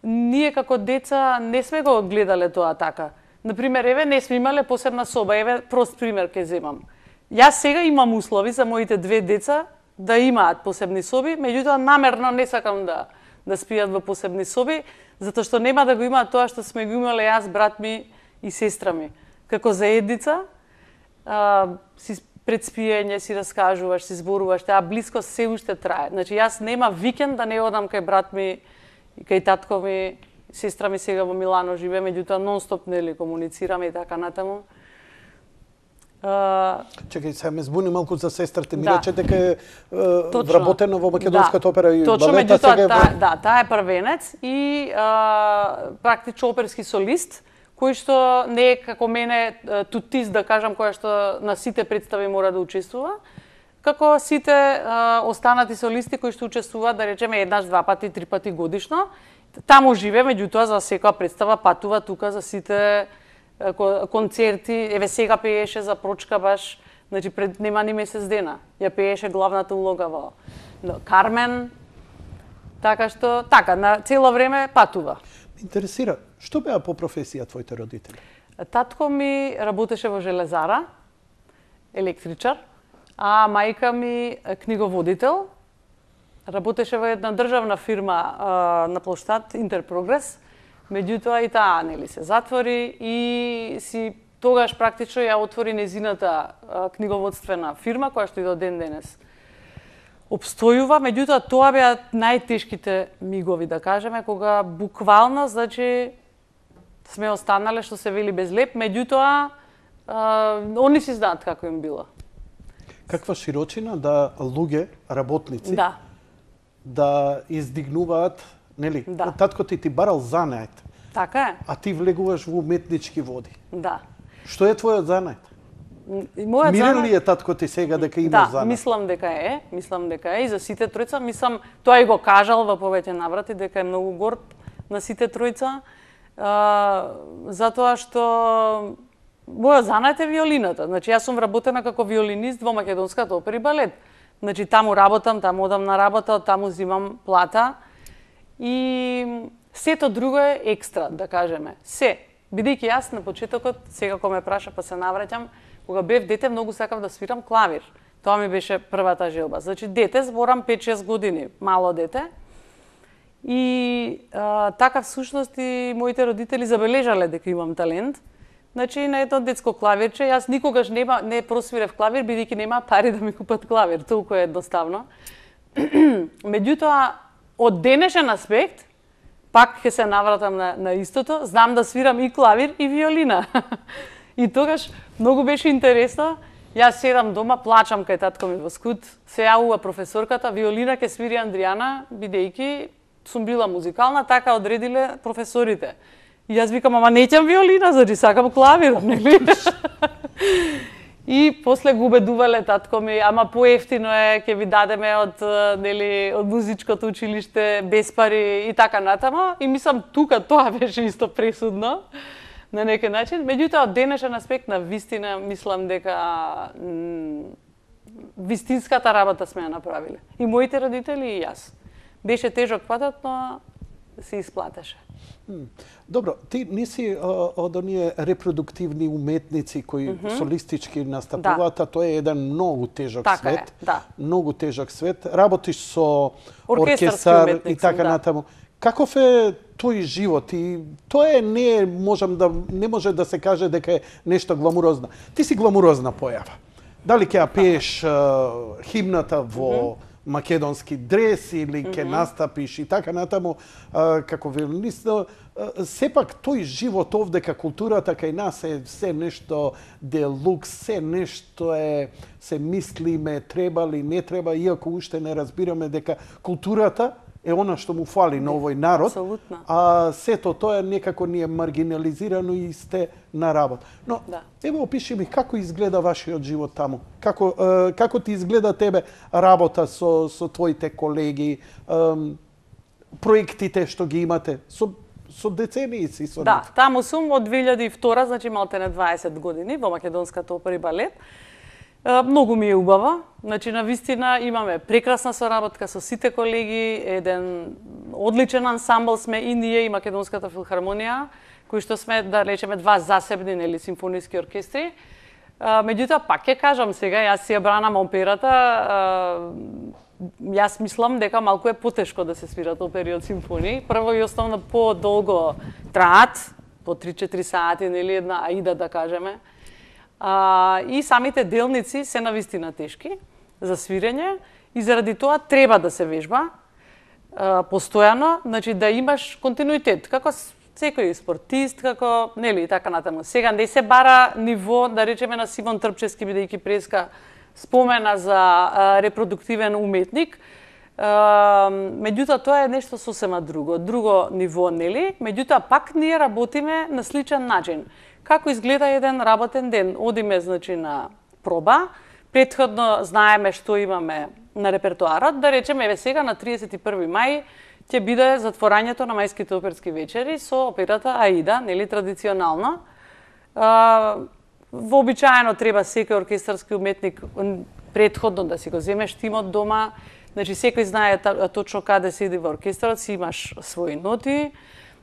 ние како деца не сме го гледале тоа така. Например, еве, не сме имале посебна соба. Еве, прост пример ќе земам. Јас сега имам услови за моите 2 деца да имаат посебни соби, меѓутоа намерно не сакам да спијат во посебни соби, затоа што нема да го имаат тоа што сме го имале јас, брат ми и сестра ми. Како заедница, си пред спиење си раскажуваш, си зборуваш, таа блискост се уште трае. Значи, јас нема викенд да не одам кај брат ми и кај татко ми, сестра ми сега во Милано живее, меѓутоа нон-стоп, нели, комуницираме и така натаму. Чекај, сега ме збуни малку за сестрата. Ми рече дека е вработена во Македонската опера и балета. Точно, меѓутоа, таа е првенец и практично оперски солист, кој што не е како мене тутист, да кажам, која што на сите представи мора да учествува, како сите останати солисти кои што учествуваат, да речеме, еднаш, 2 пати, 3 пати годишно. Таму живе, меѓутоа за секоја представа патува тука за сите концерти. Еве сега пееше за Прочка баш, значи пред нема ни месец дена. Ја пееше главната улога во Кармен. Така што, на цело време патува. Интересира, што беа по професија твоите родители? Татко ми работеше во железара, електричар, а мајка ми книговодител. Работеше во една државна фирма на плоштад Интерпрогрес, меѓутоа и таа се затвори и си тогаш практично ја отвори незината книговодствена фирма која што и до ден денес обстојува, меѓутоа тоа беа најтешките мигови, да кажеме, кога буквално, значи, сме останале, што се вели, без леп, меѓутоа, они си знаат како им било. Каква широчина да луѓе, работници, да издигнуваат, нели? Да. Татко ти барал занает. Така е. А ти влегуваш во уметнички води. Да. Што е твојот занает? Мирен ли е татко ти сега дека има занает? Мислам дека е. И за сите тројца, мислам, тоа и го кажал во повеќе наврати, дека е многу горд на сите тројца, затоа што мојот занает е виолината. Значи, јас сум вработена како виолинист во Македонската опера и балет. Значи, таму работам, таму одам на работа, таму зимам плата. И сето друго е екстра, да кажеме. Бидејќи јас на почетокот, сега кога ме праша па се навраќам, кога бев дете, многу сакав да свирам клавир. Тоа ми беше првата желба. Значи, дете, зборам 5-6 години, мало дете. И така всушност и моите родители забележале дека имам талент. Значи, на едно детско клавирче, јас никогаш не просвирев клавир, бидејќи нема пари да ми купат клавир, толку е едноставно. Меѓутоа, од денешен аспект, пак ќе се навратам на истото, знам да свирам и клавир и виолина. И тогаш многу беше интересно. Јас седам дома, плачам кај татко ми во скут, се јавува професорката, виолина ќе свири Андријана, бидејќи сум била музикална, така одредиле професорите. И јас викам, ама неќам виолина, значи сакам клавир, нели? И после го убедувале татко ми, ама поевтино е, ќе ви дадеме од музичкото училиште без пари и така натаму. И мислам, тука тоа беше исто пресудно на некој начин. Меѓутоа, од денешен аспект на вистина, мислам дека вистинската работа сме ја направиле. И моите родители и јас. Беше тежок патот, но се исплатеше. Добро, ти не си од оние репродуктивни уметници кои солистички настапуваат, тоа е еден многу тежок свет. Многу тежок свет. Работиш со оркестар и така натаму. Каков е тој живот? И тоа не може да се каже дека е нешто гламурозно. Ти си гламурозна појава. Дали ќе ја пееш химната во македонски дрес или ќе настапиш и така натаму како виолинист, сепак тој живот овдека културата кај нас е се нешто делукс, се нешто е, се мислиме, треба ли, не треба, иако уште не разбираме дека културата е она што му фали на овој народ, а сето тоа некако ни е маргинализирано и сте на работа. Но, ево, опиши ми како изгледа вашиот живот таму. Како ти изгледа тебе работа со твоите колеги, проектите што ги имате, со децении си со нив? Да, таму сум од 2002, значи малтене 20 години, во Македонската опера и балет. Многу ми е убава. Значи, на вистина имаме прекрасна соработка со сите колеги, еден одличен ансамбл сме и ние и Македонската филхармонија, кои што сме, да речеме, два засебни симфониски оркестри. Меѓутоа, пак ќе кажам сега, јас си ја бранам операта, јас мислам дека малку е потешко да се свират опери од симфонии. Прво и основно по-долго траат, по 3-4 сати, една аида, да кажеме. И самите делници се навистина тешки за свирење и заради тоа треба да се вежба постојано, значи да имаш континуитет, како секој спортист, како, и така натаму. Сега не се бара ниво, да речеме, на Симон Трпчевски, бидејќи преска спомена за репродуктивен уметник, меѓутоа тоа е нешто сосема друго ниво, меѓутоа пак ние работиме на сличен начин. Како изгледа еден работен ден? Одиме, значи, на проба, претходно знаеме што имаме на репертоарот, да речеме, еве сега на 31 мај ќе биде затворањето на мајските оперски вечери со операта Аида, традиционално. Вообичаено треба секој оркестарски уметник претходно да си го земе штимот дома, Значи секој знае точно каде седи во оркестарот, си имаш своји ноти,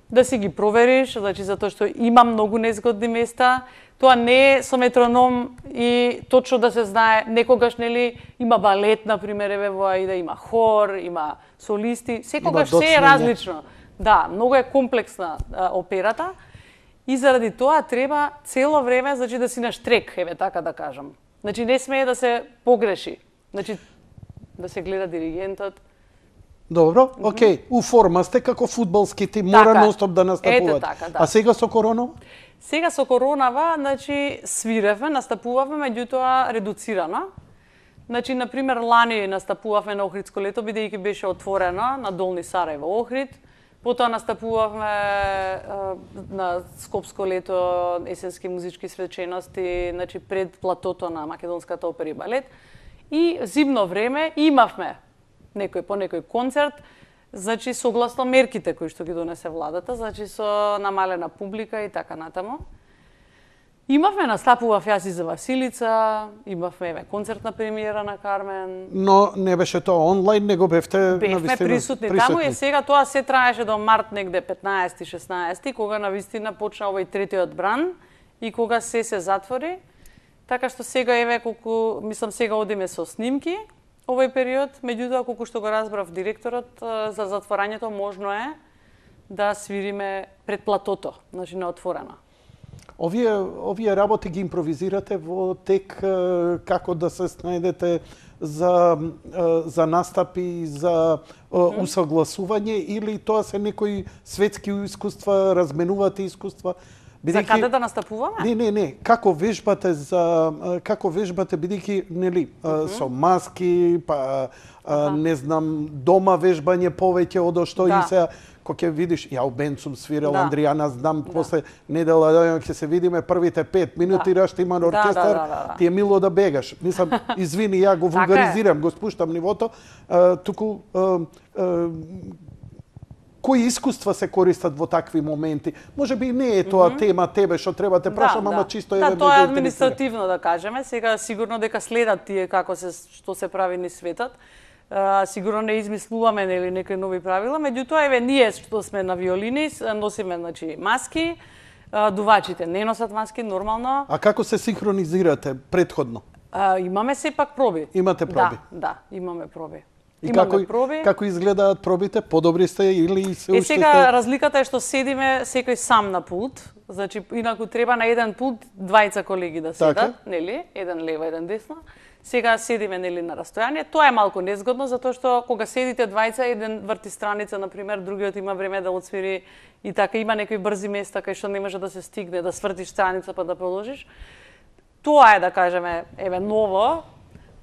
да си ги провериш, значи затоа што има многу незгодни места. Тоа не е со метроном и точно да се знае, некогаш нели има балет на пример, еве во Аида има хор, има солисти, секогаш се е различно. Да, многу е комплексна операта и заради тоа треба цело време, значи да си на штрек, еве така да кажам. Значи не смее да се погреши. Значи да се гледа диригентот. Добро, окей. У форма сте како фудбалски тим, мора нонстоп да настапувате. Така, да. А сега со коронава? Сега со коронава, значи свиревме, настапувавме, меѓутоа редуцирано. Значи, на пример, лани настапувавме на Охридско лето, бидејќи беше отворено на Долни Сарајево, Охрид. Потоа настапувавме на Скопско лето, есенски музички свечености, значи пред платото на Македонската опера и балет. И зимно време имавме по некој концерт, значи согласно мерките кои што ги донесе владата, значи со намалена публика и така натаму. Имавме, настапував јас и за Василица, имавме концертна премиера на Кармен. Но не беше тоа онлайн, него бевте навистина присутни таму и сега тоа се траеше до март негде 15-16, кога навистина почна овој третиот бран и кога се затвори. Така што сега еве колку, мислам сега одиме со снимки овој период, меѓутоа колку што го разбрав директорот за затворањето можно е да свириме пред платото, значи на отворено. Овие работи ги импровизирате во тек како да се снајдете за настапи, за усогласување или тоа се некои светски искуства, разменувате искуства? За каде да настапуваме? Не. Како вежбате бидејќи нели со маски, па не знам, дома вежбање повеќе од што и се кога ќе видиш, ја у бенд сум свирал, Андријана знам, после недела ќе се видиме првите 5 минути раште има оркестар, ти е мило да бегаш. Мислам, извини, ја го вулгаризирам, го спуштам нивото, туку кои искуства се користат во такви моменти? Може би не е тоа тема тебе што треба те прашам, ама чисто еве. Да, тоа е административно да кажеме. Сега сигурно дека следат тие што се прави низ светот. Сигурно не измислуваме нели некои нови правила, меѓутоа еве ние што сме на виолини носиме значи маски, дувачите не носат маски нормално. А како се синхронизирате претходно? Имаме сепак проби. Имате проби? Да, имаме проби. И како изгледаат пробите? Подобри сте или се уште сега разликата е што седиме секој сам на пулт, значи инаку треба на еден пулт двајца колеги да седат, нели? Еден лево, еден десно. Сега седиме нели на растојание. Тоа е малку незгодно затоа што кога седите двајца, еден врти страница на пример, другиот има време да отсвири и така има некои брзи места кај што не може да се стигне да свртиш страница па да продолжиш. Тоа е да кажеме еве ново.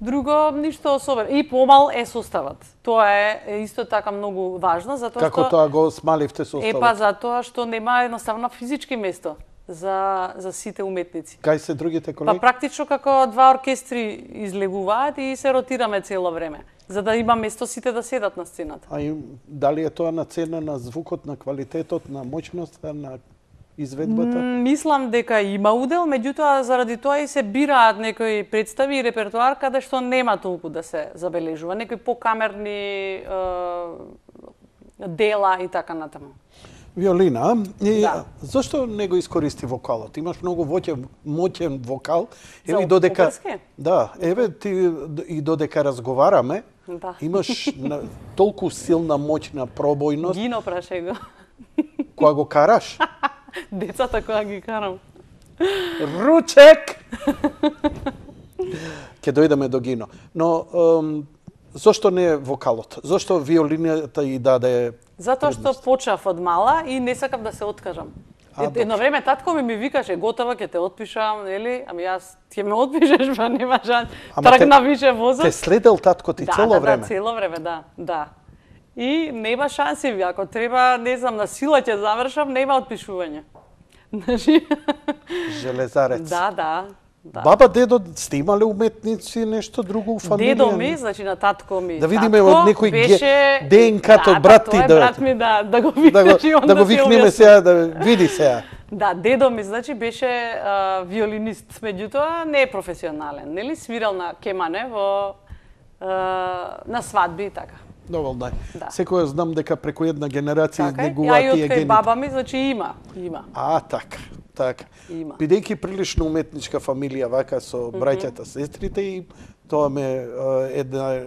Друго, ништо особено. И помал е составот. Тоа е исто така многу важно, затоа што... Како тоа го смаливте составот? Па затоа што нема едноставно физички место за сите уметници. Кај се другите колеги? Па практично како два оркестри излегуваат и се ротираме цело време, за да има место сите да седат на сцената. А дали е тоа на цена на звукот, на квалитетот, на моќноста, на изведбата? Мислам дека има удел, меѓутоа заради тоа и се бираат некои представи и репертоар каде што нема толку да се забележува, некои покамерни дела и така натаму. Виолина, зошто не го искористи вокалот? Имаш многу моќен вокал. Еве додека ти и додека разговараме, имаш толку силна моќна пробојност. Гино праше го. Кога го караш? Децата кога ги карам. Ручек! Ке дојдеме до Гино. Но зошто не вокалот? Зошто виолината и даде? Затоа што почнав од мала и не сакав да се откажам. Едно време татко ми викаше готова ќе те отпишам, нели? Ами јас ќе ме отпишеш, па нема шанс. Тргна више возот. Те следел татко ти цело време? Да, цело време, да. И нема шанси, ако треба, не знам, на сила ќе завршам, нема отпишување. Железарец. Да. Баба, дедо, сте имале уметници, нешто друго у фамилија? Дедо ми, значи на татко ми. Да видиме од некој ДНК-то брат ти брат ми да го видиш и да го викнеме сега, да види сега. Да, дедо ми, значи, беше виолинист, меѓутоа не е професионален, нели? Свирал на кемане во на свадби и така. Доволно е. Да. Секоја знам дека преку една генерација Така е. изнегуваат Ја и тие од кај гените. баба ми, значи има. Така. Има. Бидејќи прилично уметничка фамилија вака со браќата, сестрите и тоа ме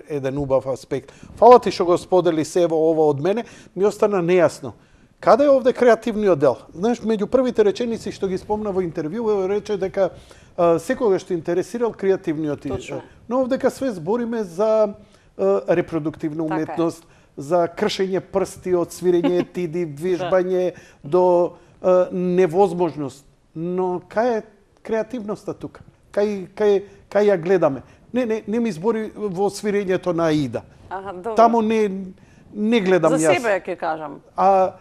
еден убав аспект. Фала ти што го сподели се ова од мене, ми остана нејасно. Каде е овде креативниот дел? Знаеш, меѓу првите реченици што ги спомна во интервју, рече дека секогаш те интересирал креативниот израз. Но овдека све збориме за репродуктивна уметност, за кршење прсти од свирење етиди, вежбање до невозможност. Но кај е креативноста тука? Кај ја гледаме? Не ми збори во свирењето на Аида. Таму не гледам јас. За себе ќе кажам. А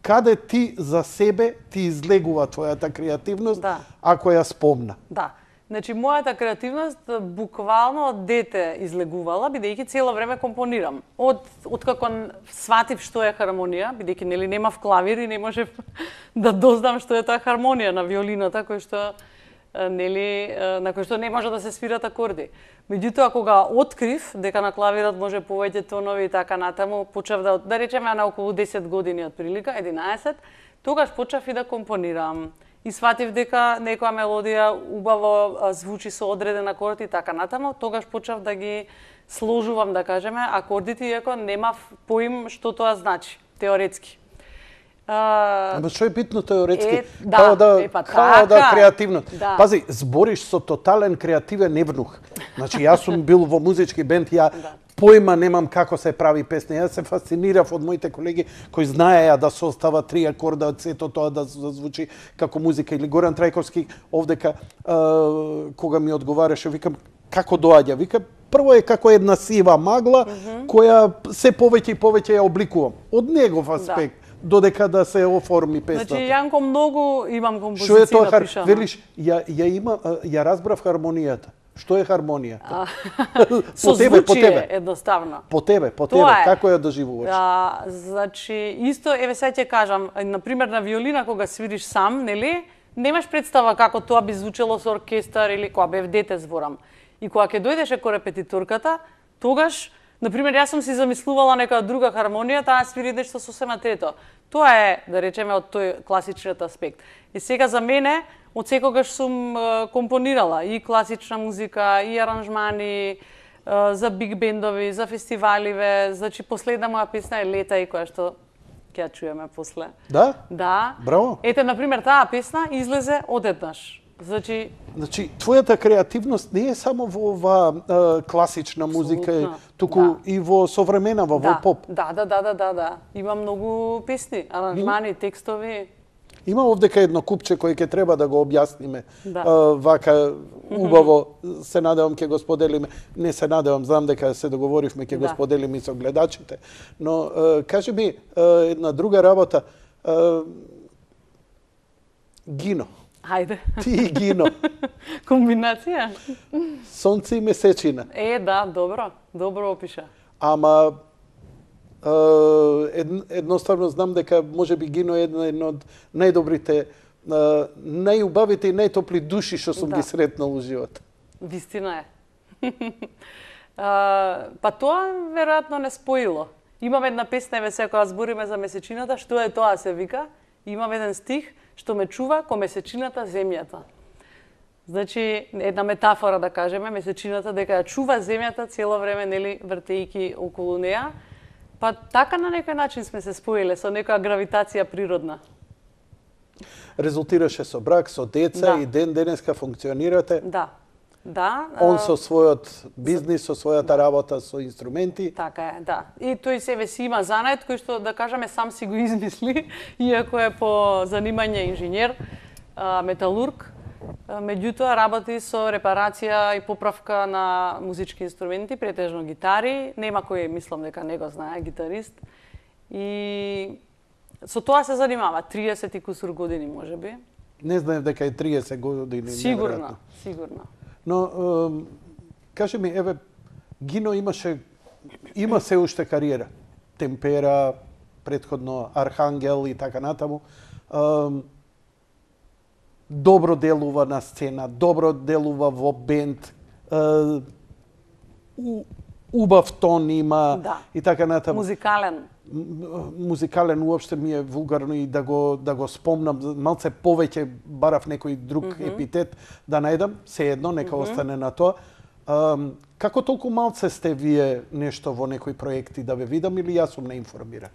каде ти за себе ти излегува твојата креативност, ако ја спомна? Да. Значи, мојата креативност буквално од дете излегувала, бидејќи цело време компонирам. Откако сватив што е хармонија, бидејќи нели немав клавир и не можев да дознам што е таа хармонија на виолината, на кој што не може да се свират акорди. Меѓутоа, кога открив дека на клавирот може повеќе тонови и така натаму, почнав да речеме на околу 10 години отприлика, 11, тогаш почнав и да компонирам. И сватив дека некоја мелодија убаво звучи со одреден акорд и така натаму, тогаш почнав да ги сложувам, да кажеме, акордите, иако немав поим што тоа значи, теоретски. Ама што е битно теоретски? Као да креативно. Пази, збориш со тотален креативен евнух. Значи, јас сум бил во музички бенд, ја појма немам како се прави песна. Јас се фасцинирав од моите колеги кои знаеја да состава 3 акорда од сето тоа да звучи како музика. Или Горан Трајковски овдека, кога ми одговараше, викам, како доаѓа? Вика, прво е како една сива магла, која се повеќе и повеќе ја обликувам. Од негов аспект. Додека да се оформи песната. Значи, Јанко, многу имам композиција напишана. Велиш, ја разбрав хармонијата. Што е хармонија? Со звучие, едноставно. По тебе, како ја доживуваш? Значи, исто, еве сега ќе кажам, например, на виолина, кога свириш сам, нели, немаш представа како тоа би звучело со оркестар или кога бев дете зборам. И кога ќе дојдеше ко репетиторката, тогаш, например, јас сум си замислувала нека друга хармонија, таа свири нешто сосема трето. Тоа е, да речеме, од тој класичниот аспект. И сега за мене, од секогаш сум компонирала и класична музика, и аранжмани, за биг бендови, за фестиваливе. Значи, последна моја песна е Лета и која што ќе ја чуеме после. Да? Да. Браво. Ете, например, таа песна излезе одеднаш. Значи, твојата креативност не е само во оваа класична музика, туку и во современава, во поп. Да. Има многу песни, аранжмани, текстови. Има овдека едно купче кој ќе треба да го објасниме. Вака убаво, се надевам ќе го споделиме. Не се надевам, знам дека се договоривме ќе го споделиме со гледачите. Но кажи ми една друга работа. Гино. Хајде. Ти и Гино. Комбинација? Сонце и месечина. Да, добро опиша. Ама едноставно знам дека можеби Гино е една од најдобрите, најубавите и најтопли души што сум ги сретнал во живот. Вистина е. Па тоа веројатно не споило. Имам една песна, еве сега кога збориме за месечината, што е тоа се вика, имам еден стих што ме чува ко месечината земјата. Значи, една метафора да кажеме, месечината дека ја чува земјата цело време, нели, вртејќи околу неа. Па така на некој начин сме се споиле со некоја гравитација природна. Резултираше со брак, со деца и денеска функционирате. Да. Он со својот бизнис, со својата работа, со инструменти. Така е, да. И тој себе си има занет кој што, да кажеме, сам си го измисли, иако е по занимање инженер, металург. Меѓутоа работи со репарација и поправка на музички инструменти, претежно гитари. Нема кој, мислам дека не го знае, гитарист. И со тоа се занимава 30 и кусур години, можеби. Не знаев дека е 30 години. Сигурно. Но, кажи ми, еве, Гино има се уште кариера. Темпера, претходно Архангел и така натаму. Добро делува на сцена, добро делува во бенд. убав тон има Да. и така натаму. Музикален Уопште ми е вулгарно и да го спомнам, малце повеќе барав некој друг епитет да најдам, се едно нека остане на тоа. Како толку малце сте вие нешто во некои проекти да ве видам или јас сум неинформиран?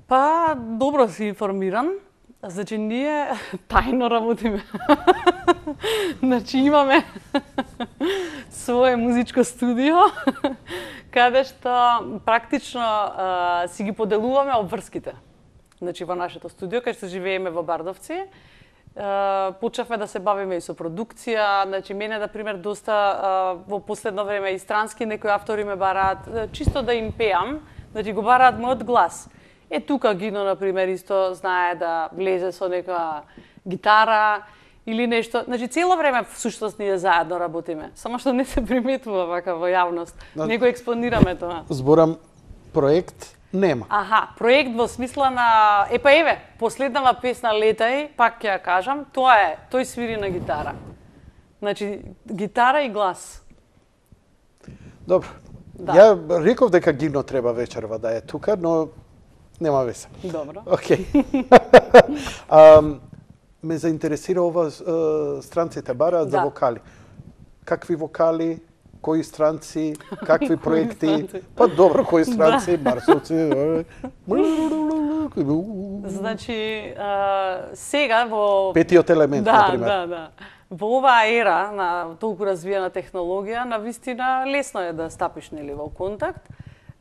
Па, добро си информиран. Значи, ние тајно работиме. Значи, имаме свое музичко студио, каде што практично си ги поделуваме обврските. Значи, во нашето студио, каде што живееме во Бардовци, почнавме да се бавиме и со продукција. Значи, мене, на пример, доста во последно време и странски некои автори ме бараат, чисто да им пеам, значи го бараат мојот глас. Тука Гино, на пример, исто знае да влезе со нека гитара или нешто. Значи, цело време всушност ние заедно работиме. Само што не се приметува вака во јавност. Не го експонираме тоа. Зборам проект нема. Аха, проект во смисла на... Епа еве, последнава песна Летај, пак ќе ја кажам, тоа е, тој свири на гитара. Значи, гитара и глас. Добро. Да. Ја реков дека Гино треба вечерва да е тука, но нема везе. Добро. Океј. Ме заинтересира ова странците бараат за вокали. Какви вокали, кои странци, какви проекти? Па добро, кои странци, барсовци. Значи, сега во... Петиот елемент, например. Да. Во оваа ера на толку развиена технологија, навистина лесно е да стапиш нели во контакт.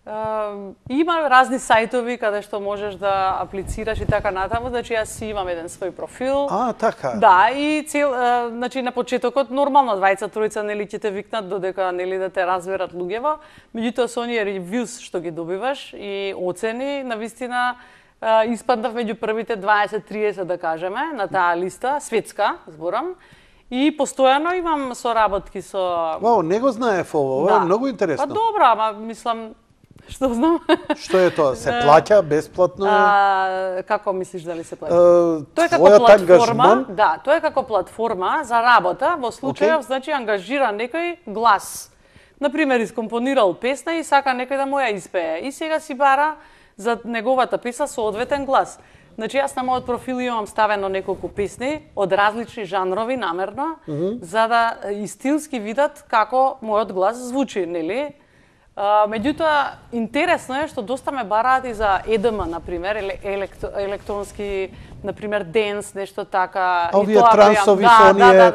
Има разни сајтови каде што можеш да аплицираш и така натаму, значи јас си имам еден свој профил. Така. Да, и значи на почетокот нормално двајца тројца нели ќе те викнат додека нели да те разберат луѓево, меѓутоа со оние ревјуз што ги добиваш и оцени, навистина испаднав меѓу првите 20-30 да кажеме на таа листа, светска, зборам. И постојано имам соработки со... Вау, не го знаев ово, ова е многу интересно. Па добро, ама мислам, што знам. Што е тоа? Се плаќа бесплатно? Како мислиш дали се плаќа? Тоа е како платформа. Да, тоа е како платформа за работа, во случајов значи ангажира некој глас. Например, искомпонирал песна и сака некој да му ја испее. И сега си бара за неговата песна соодветен глас. Значи, јас на мојот профил имам ставено неколку песни од различни жанрови намерно, за да и стилски видат како мојот глас звучи, нели? Меѓутоа, интересно е што доста ме бараат и за EDM, например, електронски, например, денс, нешто така. Овие трансови со оние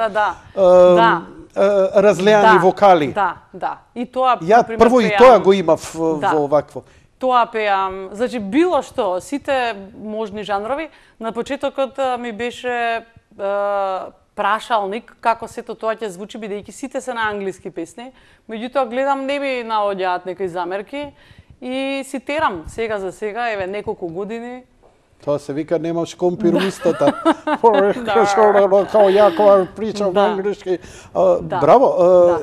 разлеани вокали. Да. И тоа, ја прво и тоа го имав во овакво. Тоа пеам, значи било што, сите можни жанрови. На почетокот ми беше прашалник како сето тоа ќе звучи, бидејќи сите се на англиски песни. Меѓутоа гледам не ми наоѓаат некои замерки и си терам сега за сега, еве неколку години. Тоа се вика немаш компируистата. Као ја кога причам на англиски. Браво.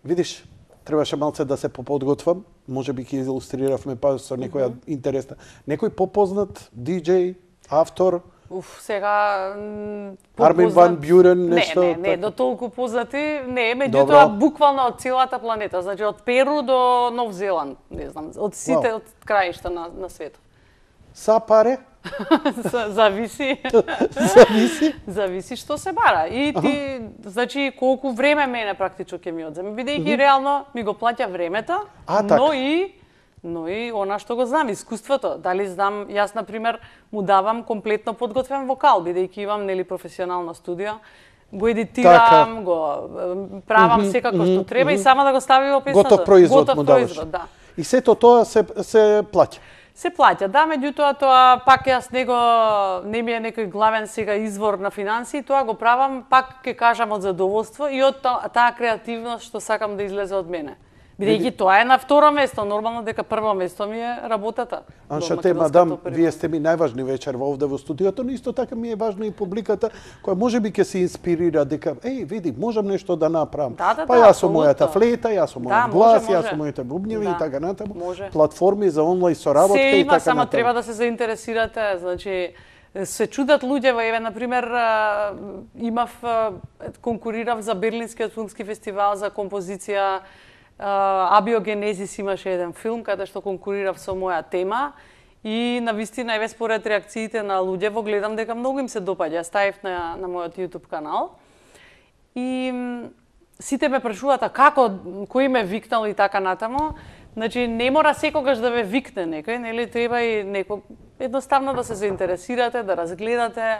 Видиш, требаше малце да се поподготвам. Може би ќе илустриравме па со некоја интересна. Некој попознат диџеј, автор? Сега Армин ван Бюрен, нешто? Не, до толку познати, не, меѓутоа буквално од целата планета, значи од Перу до Нов Зеланд, не знам, од сите од краишта на светот. Са паре? Зависи. Зависи што се бара. И ти, значи, колку време мене практично ќе ми одземе, бидејќи реално ми го плаќа времето, но и она што го знам, искуството. Дали знам, јас, например, му давам комплетно подготвен вокал, бидејќи имам, нели, професионална студија, го едитирам, го правам секако што треба и само да го стави во песната. Готов производ му даваш. Да. И сето тоа се плаќа. Се плаќа, да, меѓутоа тоа пак јас не ми е некој главен сега извор на финансии, тоа го правам пак ќе кажам од задоволство и од таа креативност што сакам да излезе од мене. Бидејќи тоа е на второ место, нормално дека прво место ми е работата. Анша те, мадам, вие сте ми најважни вечер овде во студиото, но исто така ми е важна и публиката, која можеби ќе се инспирира дека, види, можам нешто да направам. Па јас сум мојата флейта, јас сум мојот глас, јас сум моите бубњеви и така натаму. Платформи за онлајн соработка и така натаму. Се има, само треба да се заинтересирате, значи се чудат луѓе, еве на пример конкурирав за Берлинскиот филмски фестивал за композиција Абиогенезис имаше еден филм каде што конкурирав со моја тема и навистина еве според реакциите на луѓето гледам дека многу им се допаѓа. Ставив на мојот YouTube канал. И сите ме прашуваат како, кој ме викнал и така натаму. Значи не мора секогаш да ве викне некој, нели, треба и некој едноставно да се заинтересирате, да разгледате.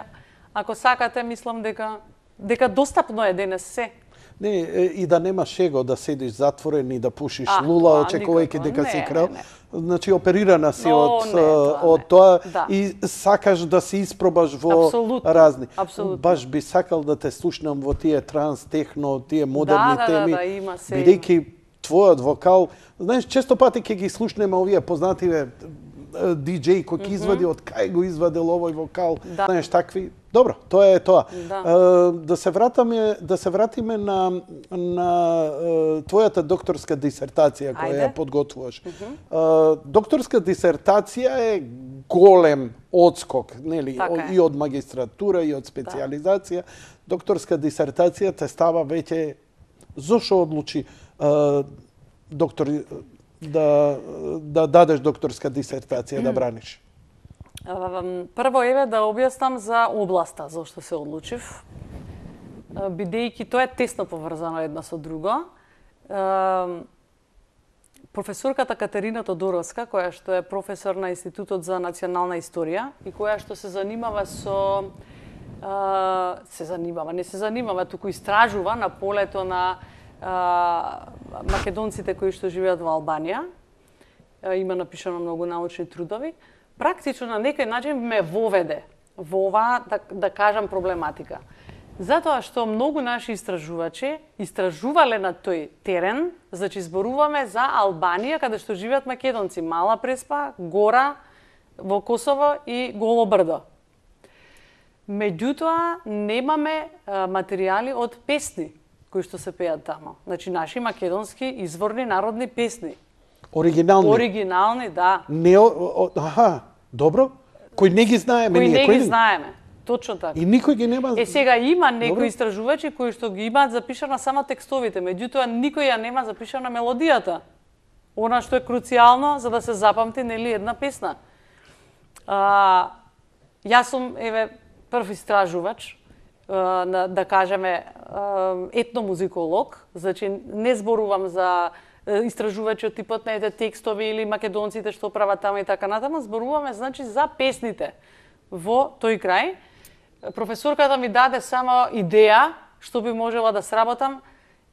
Ако сакате, мислам дека достапно е денес се. Не, и да немаш его да седиш затворен и да пушиш лула, очекувајќи дека си крал. Значи, оперирана си од тоа и сакаш да се испробаш во разни. Баш би сакал да те слушнам во тие транс, техно, тие модерни теми, бидејќи твојот вокал, знаеш, често пати ќе ги слушнеме овие познативе диџеи кој ќе извади од кај го извадил овој вокал, знаеш, такви. Добро, тоа е тоа. Да се вратиме на твојата докторска дисертација која ја подготвуваш. Докторска дисертација е голем одскок, нели, и од магистратура и од специјализација. Докторска дисертација те става веќе зошто одлучи доктор да дадеш докторска дисертација да браниш? Прво еве да објаснам за областа зашто се одлучив. Бидејќи тоа е тесно поврзано една со друго. Професорката Катерина Тодоровска, која што е професор на Институтот за национална историја и која што се занимава туку истражува на полето на македонците кои што живеат во Албанија. Има напишано многу научни трудови. Практично на некој начин ме воведе во оваа, да кажам, проблематика. Затоа што многу наши истражувачи истражувале на тој терен, значи зборуваме за Албанија, каде што живеат македонци, Мала Преспа, Гора, во Косово и Голо брдо. Меѓутоа, немаме материјали од песни кои што се пеат тамо. Значи, наши македонски изворни народни песни. Оригинални? Оригинални, да. Добро. Кои не ги знаеме ние? Кои не ги знаеме, точно така. И никој ги нема... Сега има некои истражувачи кои што ги имаат запишана само текстовите, меѓутоа никој ја нема запишана мелодијата. Она што е круцијално за да се запамти, нели, една песна. Јас сум, еве, прв истражувач, да кажеме, етномузиколог, значи не зборувам за истражувачи од типот на ете текстови или македонците што прават таму и така натаму, зборуваме, значи, за песните во тој крај. Професорката ми даде само идеја што би можела да сработам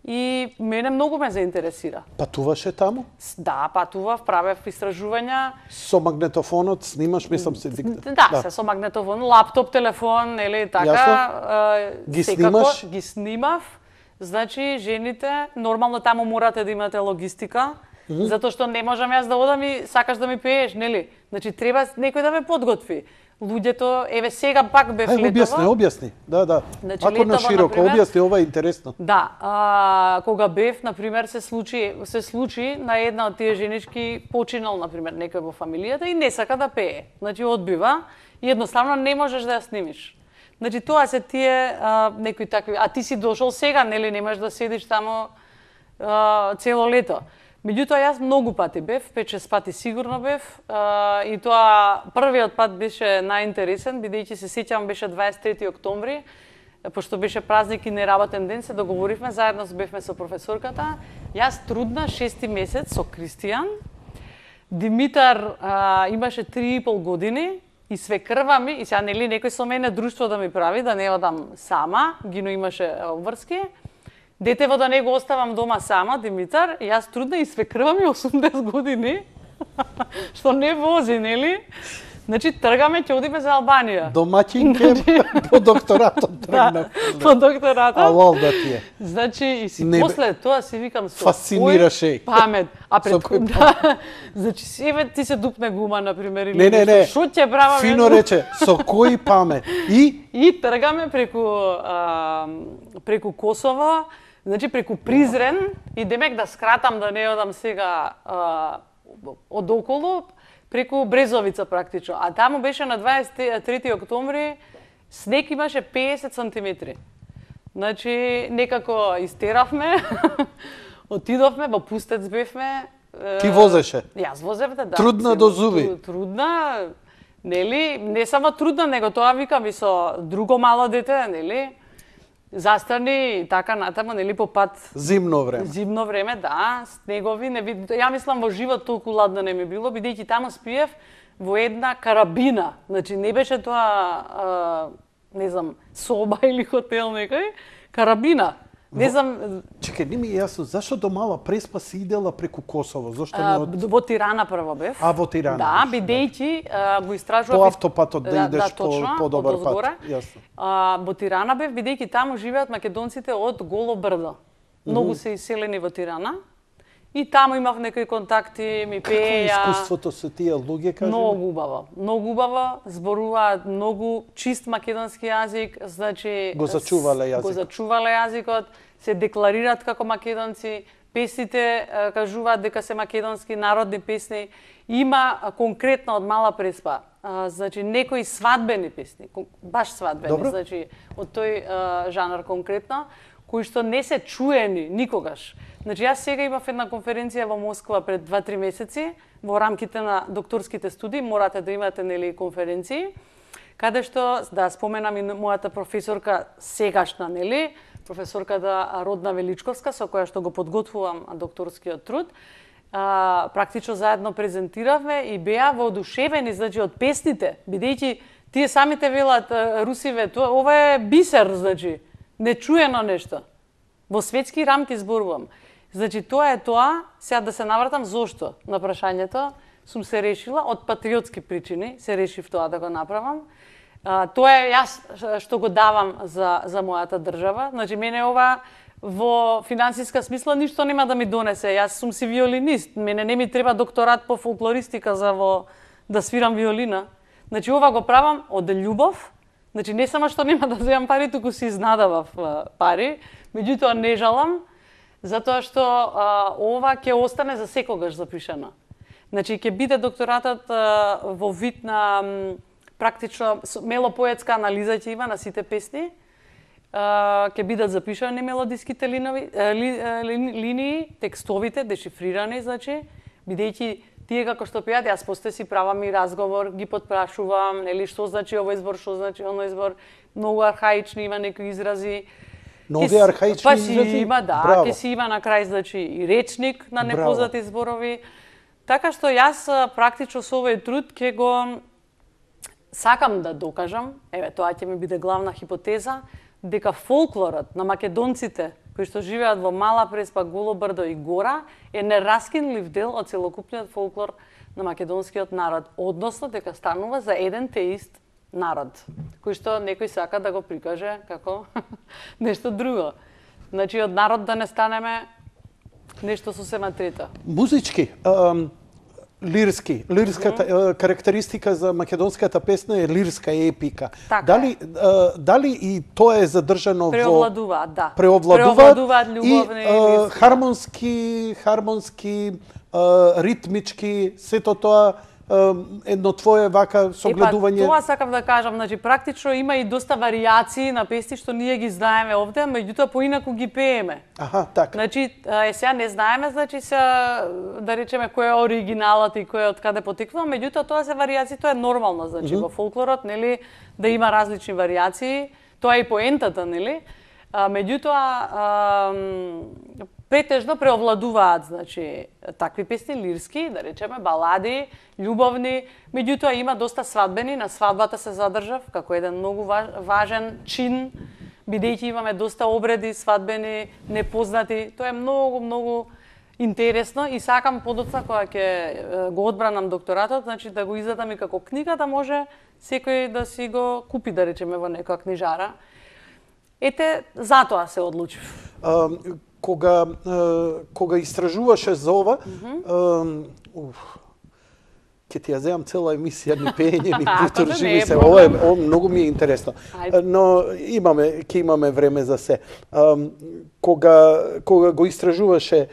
и мене многу ме заинтересира. Патуваше таму? Да, патував, правев истражувања. Со магнетофонот снимаш, мислам се дикта. Да, се со магнетофон, лаптоп, телефон, или така. Ги снимаш? Ги снимав. Значи, жените, нормално таму морате да имате логистика, затоа што не можам јас да одам и сакаш да ми пееш, нели? Значи, треба некој да ме подготви. Луѓето, еве сега пак бев летово. Објасни. Да. Значи, ако на широко, објасни, ова е интересно. Да, кога бев, например, се случи на една од тие женички починал, например, некој во фамилијата и не сака да пее. Значи, одбива и едноставно не можеш да ја снимиш. Значи, тоа се тие некои такви... А ти си дошол сега, нели, немаш да седиш таму цело лето. Меѓутоа, јас многу пати бев, 5-6 пати сигурно бев, и тоа првиот пат беше најинтересен, бидејќи се сеќавам беше 23 октомври, пошто беше празник и неработен ден, се договоривме, заедно бевме со професорката. Јас трудна 6 месец со Кристијан. Димитар имаше 3,5 години, и свекрва ми, и сега нели некој со мене друштво да ми прави, да не одам сама, Гино имаше обврски. Детево да не го оставам дома сама, Димитар, и јас трудна и свекрва ми 80 години, што не вози, нели? Значи, тргаме, ќе одиме за Албанија. Домаќинке по докторатот тргнав. Да, по докторатот. Алал да ти е. Значи, и си после тоа си викам со фасцинираше памет. А пред да, значи, еве ти се дупне гума, например, или не. Шо ќе правам? Фино рече, со кој памет? И тргаме преку Косово, значи преку Призрен, и демек да скратам, да не одам сега од околу, преку Брезовица практично. А таму беше на 23 октомври, снег имаше 50 сантиметри. Значи, некако истеравме, Отидовме, во Пустец бевме. Ти возеше? Јас возевте, да. Трудна до зуби. Трудна, нели? Не само трудна, него тоа викам и со друго мало дете, нели? Застрани и така натаму, нели, по пат. Зимно време. Зимно време, да, снегови, не ви... Ја мислам во живот толку ладно не ми било, бидејќи таму спиев во една карабина. Значи не беше тоа не знам, соба или хотел некој, карабина. Не знам... Чекај, не ми е јасно, зашто до Мала Преспа си идела преку Косово? Зошто не од... Во Тирана прво бев. Во Тирана. Да, бидејќи го истражував... По автопатот да идеш по добар пат. Јасно. Во Тирана бев, бидејќи таму живеат македонците од Голо брдо. Многу се иселени во Тирана. И таму имав некои контакти, ми пеја. Какво искуството со тие луѓе, кажи? Многу убаво, зборуваат многу чист македонски јазик, значи го зачувале јазикот. Го зачувале јазикот, се декларираат како македонци, песните кажуваат дека се македонски народни песни. Има конкретно од Мала Преспа, значи некои свадбени песни, баш свадбени, Добро. значи од тој жанр конкретно, кои што не се чуени никогаш. Значи, јас сега имав една конференција во Москва пред 2-3 месеци, во рамките на докторските студии, морате да имате, нели, конференции, каде што, да споменам и мојата професорка сегашна, нели, професорката Родна Величковска, со која што го подготвувам докторскиот труд, практично заедно презентиравме и беа воодушевени, значи, од песните, бидејќи тие самите велат русиве, ова е бисер, значи, нечуено нешто. Во светски рамки зборувам. Значи, тоа е тоа, сега да се навратам зошто на прашањето, сум се решила, од патриотски причини, се решив тоа да го направам. Тоа е јас што го давам за мојата држава. Значи, мене ова во финансиска смисла ништо нема да ми донесе. Јас сум си виолинист, мене не ми треба докторат по фолклористика да свирам виолина. Значи, ова го правам од љубов. Значи, не само што нема да земам пари, туку си изнадавав пари, меѓутоа не жалам, затоа што ова ќе остане за секогаш запишано. Значи, ќе биде докторатот во вид на практично мелопоетска анализа ќе има на сите песни, ќе бидат запишани мелодиските линии, текстовите, дешифрирани, значи, бидејќи тие како што пеат, јас после си правам и разговор, ги потпрашувам, нели, што значи овој збор, што значи оној збор, многу архаични има некои изрази. Нови архаични изрази? Има, да, ќе си има на крај, значи, и речник на непознати зборови. Така што јас практично со овој труд ќе го сакам да докажам, еве, тоа ќе ми биде главна хипотеза, дека фолклорот на македонците кои што живеат во Мала Преспа, Голо брдо и Гора е нераскинлив дел од целокупниот фолклор на македонскиот народ, односно дека станува за еден те ист народ, кој што некој сака да го прикаже како нешто друго. Значи, од народ да не станеме нешто сосема трето. Музички, лирски, лирската карактеристика за македонската песна е лирска епика. Така дали и тоа е задржано преовладуваат, да. Преовладуваат љубовни и хармонски, ритмички, сето тоа едно твое вака согледување. Тоа сакам да кажам, значи практично има и доста варијации на песни што ние ги знаеме овде, меѓутоа поинаку ги пееме. Аха, така. Значи, сега не знаеме, значи се да речеме кој е оригиналот и кој е од каде потекнува, меѓутоа тоа се варијации, тоа е нормално, значи во фолклорот, нели, да има различни варијации, тоа е и поентата, нели? Меѓутоа претежно преовладуваат, значи, такви песни лирски, да речеме, балади, љубовни, меѓутоа има доста свадбени, на свадбата се задржав како еден многу важен чин, бидејќи имаме доста обреди свадбени, непознати, тоа е многу интересно и сакам подоцна кога ќе го одбранам докторатот, значи да го издадам и како книга, да може секој да си го купи, да речеме, во некоја книжара. Ете, затоа се одлучив. Кога истражуваше за ова, ќе ти ја земам цела емисија ни пеење, ни приторживи се. Ова многу ми е интересно. Но ќе имаме време за се. Кога го ги истражуваше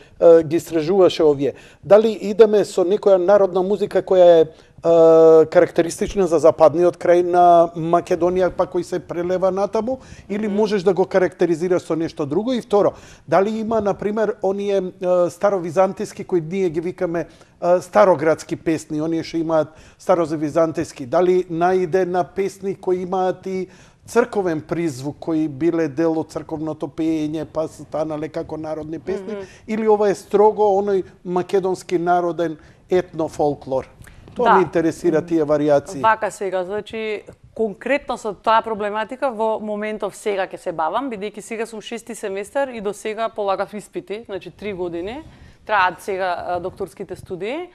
овие, дали идеме со некоја народна музика која е карактеристична за западниот крај на Македонија, па кој се прелева натаму, или можеш да го карактеризираш со нешто друго? И второ, дали има, например, оние старовизантиски кои ние ги викаме староградски песни, оние што имаат старовизантиски, дали наиде на песни кои имаат и црковен призвук, кои биле дел од црковното пеење, па станале како народни песни, или ова е строго оној македонски народен етнофолклор? Тоа ме интересира тие варијации. Вака сега, значи конкретно со таа проблематика во моментов сега ќе се бавам, бидејќи сега сум 6-ти семестар и до сега полагав испити, значи 3 години. Траат сега докторските студии,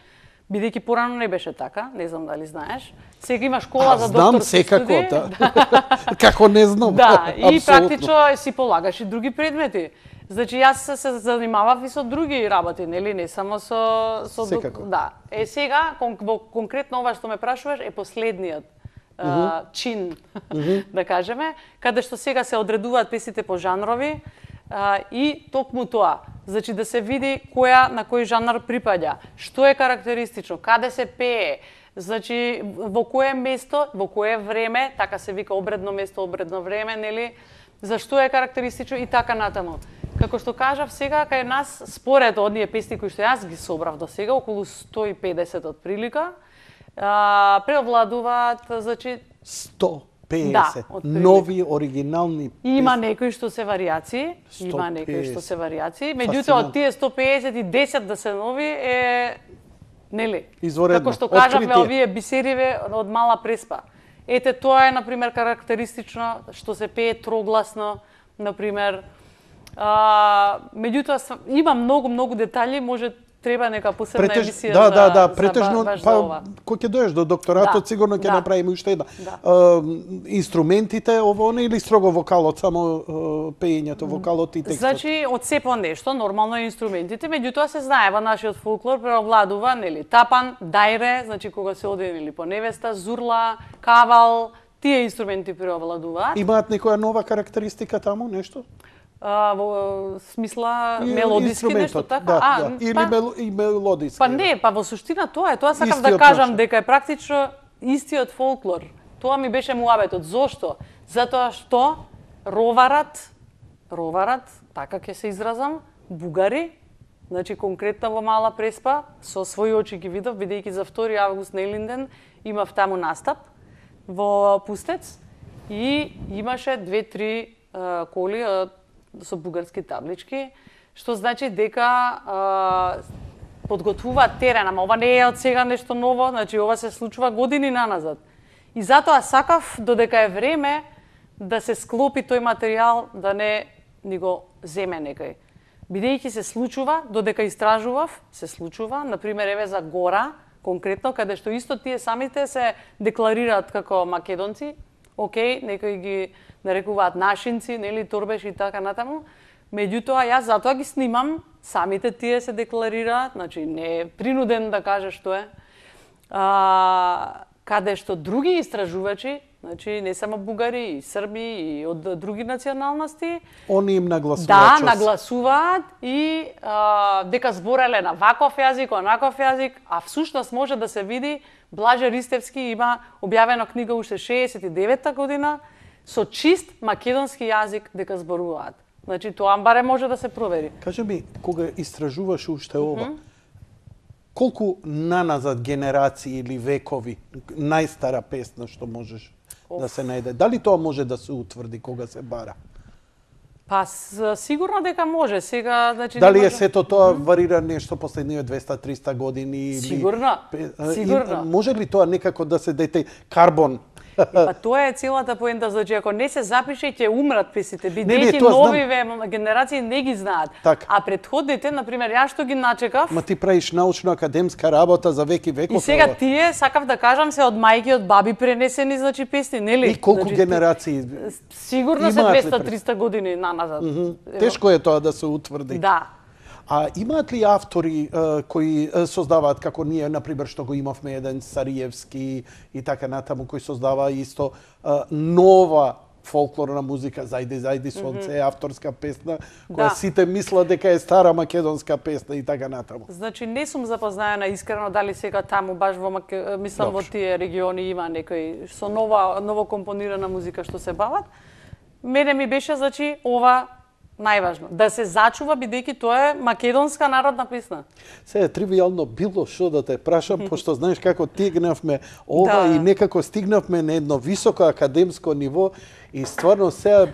бидејќи порано не беше така, не знам дали знаеш. Сега има школа за докторски студии. Знам секако, како не знам. Да, и практично си полагаш и други предмети. Значи, јас се занимавав и со други работи, нели, не само со секако. Да. Сега, конкретно ова што ме прашуваш, е последниот чин, да кажеме, каде што сега се одредуваат песните по жанрови и токму тоа. Значи, да се види која на кој жанр припаѓа, што е карактеристично, каде се пее, значи, во кое место, во кое време, така се вика обредно место, обредно време, нели, зашто е карактеристично и така натаму. Како што кажав сега, кај нас, според одние песни кои што јас ги собрав до сега, околу 150 од прилика, преовладуваат, значи... 150 да, нови, оригинални песни. Има некои што се варијации, меѓутоа од тие 150 и 10 да се нови е... Нели? Изворедно. Како што кажавме, овие бисериве од Мала Преспа. Ете, тоа е, например, карактеристично, што се пее трогласно, например. Меѓутоа, има многу детали, може треба нека посебна емисија претежно, кој ќе доеш до докторатот, сигурно ќе направиме уште една. Инструментите, ово не, или строго вокалот, само пеењето, вокалот и текстот? Значи, од се по нешто, нормално инструментите, меѓутоа се знае, во нашиот фолклор преовладува, нели, тапан, дајре, значи кога се оде, нели, по невеста, зурла, кавал, тие инструменти преовладуваат. Имаат некоја нова карактеристика таму, нешто? Во смисла мелодиски нешто така? Или мелодиски. Па не, па во суштина тоа е. Тоа сакам да кажам дека е практично истиот фолклор. Тоа ми беше муабетот. Зошто? Затоа што роварат, така ќе се изразам, бугари, значи конкретно во Мала Преспа, со своји очи ги видов, бидејќи за 2 август на Елинден имав таму настап во Пустец и имаше 2-3 коли со бугарски таблички, што значи дека подготвуваат терен, ама ова не е од сега нешто ново, значи ова се случува години наназад. И затоа сакав, додека е време, да се склопи тој материјал, да не ни го земе некој. Бидејќи се случува, додека истражував, се случува, например, еве за Гора, конкретно, каде што исто тие самите се декларираат како македонци, окей, некои ги нарекуваат нашинци, нели, торбеши и така натаму. Меѓутоа, јас затоа ги снимам, самите тие се декларираат, значи не е принуден да каже што е. Каде што други истражувачи, значи не само бугари, и срби, и од други националности, они им нагласуваат. Да, нагласуваат и дека збореле на ваков јазик, онаков јазик, а всушност може да се види, Блаже Ристевски има објавена книга уште 69-та година, со чист македонски јазик дека зборуваат. Значи, тоа баре може да се провери. Кажи ми, кога истражуваш уште ова, колку наназад генерации или векови, најстара песна што можеш да се најде? Дали тоа може да се утврди кога се бара? Па, сигурно дека може. Сега, значи, дали е сето тоа варира нешто последниот 200-300 години? Сигурно, сигурно. Може ли тоа некако да се дете карбон? Па тоа е целата поента, значи ако не се запише ќе умрат песните, бидејќи новиве генерации не ги знаат. Так. А претходните, например, јас што ги начекав. Ма ти правиш научно-академска работа за веки веков. И сега тие, сакав да кажам, се од мајки, од баби пренесени, значи песни, нели? И колку генерации? Сигурно се 200-300 години наназад. Тешко е тоа да се утврди. Да. А имаат ли автори кои создаваат, како ние, например, што го имавме еден Сариевски и така натаму, кој создава исто нова фолклорна музика, Зајди сонце, авторска песна, која сите мислат дека е стара македонска песна и така натаму. Значи не сум запознаена искрено дали сега таму баш мислам во тие региони има некој со ново компонирана музика што се бават. Мене ми беше значи ова најважно, да се зачува бидејќи тоа е македонска народна песна. Се е тривијално било што да те прашам, пошто знаеш како тигнавме ова и некако стигнавме на едно високо академско ниво и стварно се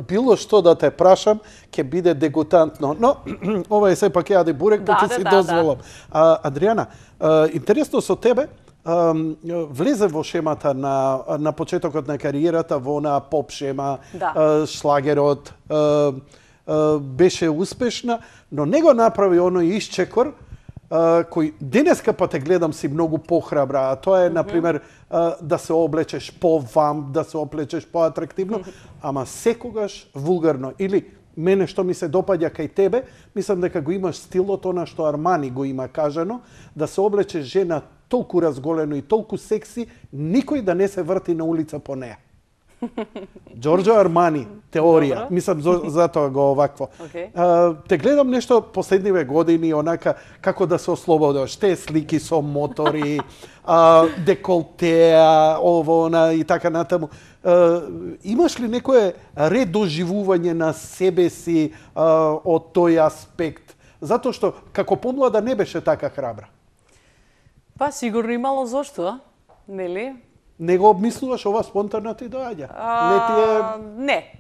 било што да те прашам ќе биде дегутантно. Но ова е сепак јаде бурек, па ќе си дозволам. Адријана, интересно со тебе, влезе во шемата на почетокот на кариерата во она поп шема, шлагерот, беше успешна, но не го направи оној исчекор кој денеска па те гледам си многу похрабра, а тоа е например да се облечеш по-вамп, да се облечеш по-атрактивно, ама секогаш вулгарно. Или мене што ми се допаѓа кај тебе, мислам дека го имаш стилот она што Армани го има кажано, да се облечеш жена толку разголено и толку секси, никој да не се врти на улица по неа. Џорџо Армани, теорија. Мислам, затоа го овакво. Те гледам нешто последниве години, онака, како да се ослободиш. Те слики со мотори, деколтеа, ово, она и така натаму. Имаш ли некое редоживување на себе си од тој аспект? Затоа што, како помлада, не беше така храбра. Па, сигурно имало зошто, нели? Не го обмислуваш, ова спонтано ти доаѓа?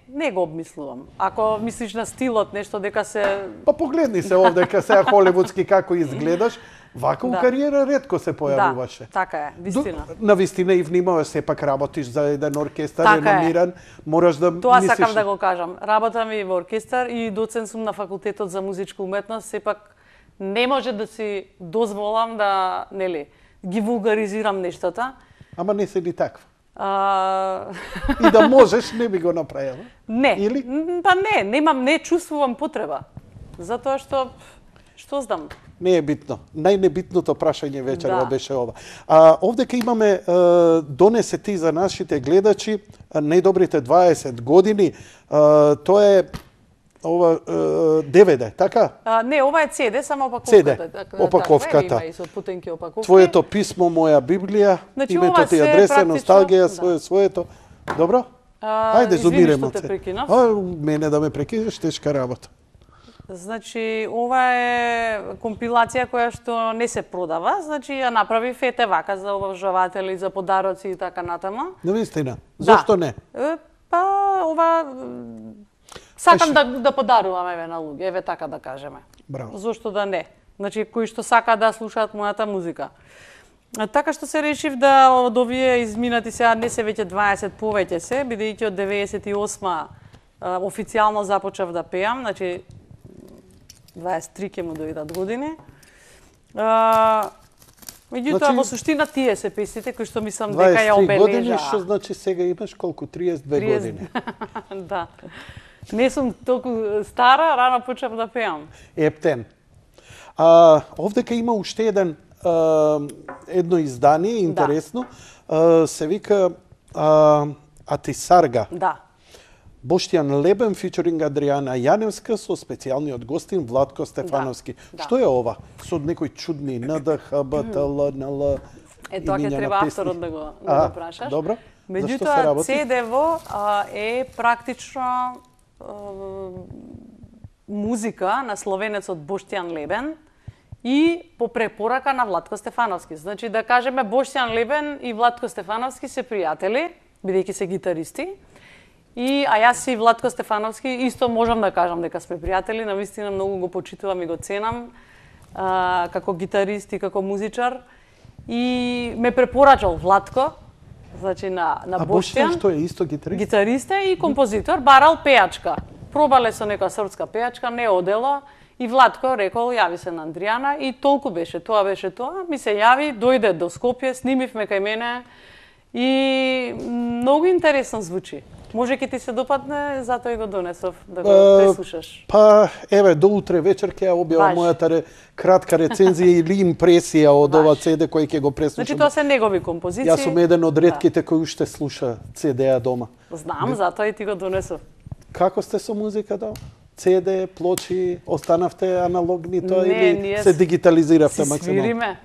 Не го обмислувам. Ако мислиш на стилот, нешто дека се... Па погледни се овде, сега холивудски како изгледаш, вака у кариера ретко се појавуваше. Да, така е, вистина. На вистина и внимаваш, сепак работиш за еден оркестар реномиран, мораш да тоа мислиш... сакам да го кажам. Работам и во оркестар и доцент сум на факултетот за музичка уметност, сепак не може да си дозволам да, нели, ги вулгаризирам нештата. Ама не се ли таква? И да можеш, не би го направила? Не. Или? Па не чувствувам потреба. Затоа што знам. Не е битно. Најнебитното прашање вечерва беше ова. Овдека имаме, донесе ти за нашите гледачи, најдобрите 20 години. Тоа е ова DVD, така? Не, ова е CD, само опаковката. CD, опаковката. Има и со путенки опаковки. Твоето писмо, моја Библија, значи, името ти адреса, носталгија, своето. Добро? Ајде, зумиреме се. Мене да ме прекинеш, тешка работа. Значи, ова е компилација која што не се продава, значи ја направи Фете вака за обожаватели, за подароци и така натаму. Навистина. Зошто не? Па, ова сакам да подарувам на луѓе, еве така да кажеме. Браво. Зошто да не? Значи, кои што сака да слушаат мојата музика. Така што се решив да од овие изминати сега не се веќе 20, повеќе се, бидејќи од 98 официјално започнав да пеам, значи 23 ќе му дојдат години. Меѓутоа, во суштина тие се песните кои што мислам дека ја обележа. 23 години, што значи сега имаш колку? 32 години. Да. Не сум толку стара, рано почнав да пеам. Ептен. Овдека има уште едно издание, интересно, се вика Атисарга. Да. Боштјан Лебен, фичеринг Адријана Јаневска, со специјалниот гостин Владко Стефановски. Што е ова? Со некои чудни НДХ, БТЛ, НЛ... Тоа ќе треба авторот да го прашаш. Добро. Меѓутоа, CD-во е практично музика на словенецот Боштјан Лебен и по препорака на Владко Стефановски. Значи, да кажеме, Боштјан Лебен и Владко Стефановски се пријатели, бидејќи се гитаристи. А јас и Владко Стефановски исто можам да кажам дека сме пријатели, навистина многу го почитувам и го ценам како гитарист и како музичар. И ме препорачал Владко, значи на Боштјан. А Боштјан што е исто гитарист? Гитарист е и композитор, барал пејачка. Пробале со нека српска пејачка, не одело. И Владко рекол, јави се на Андријана и толку беше тоа, ми се јави, дојде до Скопје, снимивме кај мене и многу интересно звучи. Може ки ти се допадне, затоа и го донесов да го преслушаш. Па, еве, до утре вечер ќе ја објавам мојата кратка рецензија или импресија од ова CD кој ќе го преслушам. Значи тоа се негови композиции. Јас сум еден од ретките кои уште слуша CD-а дома. Знам, затоа и ти го донесов. Како сте со музика дома? CD, плочи, останавте аналогни тоа или се дигитализиравте максимално? Свириме.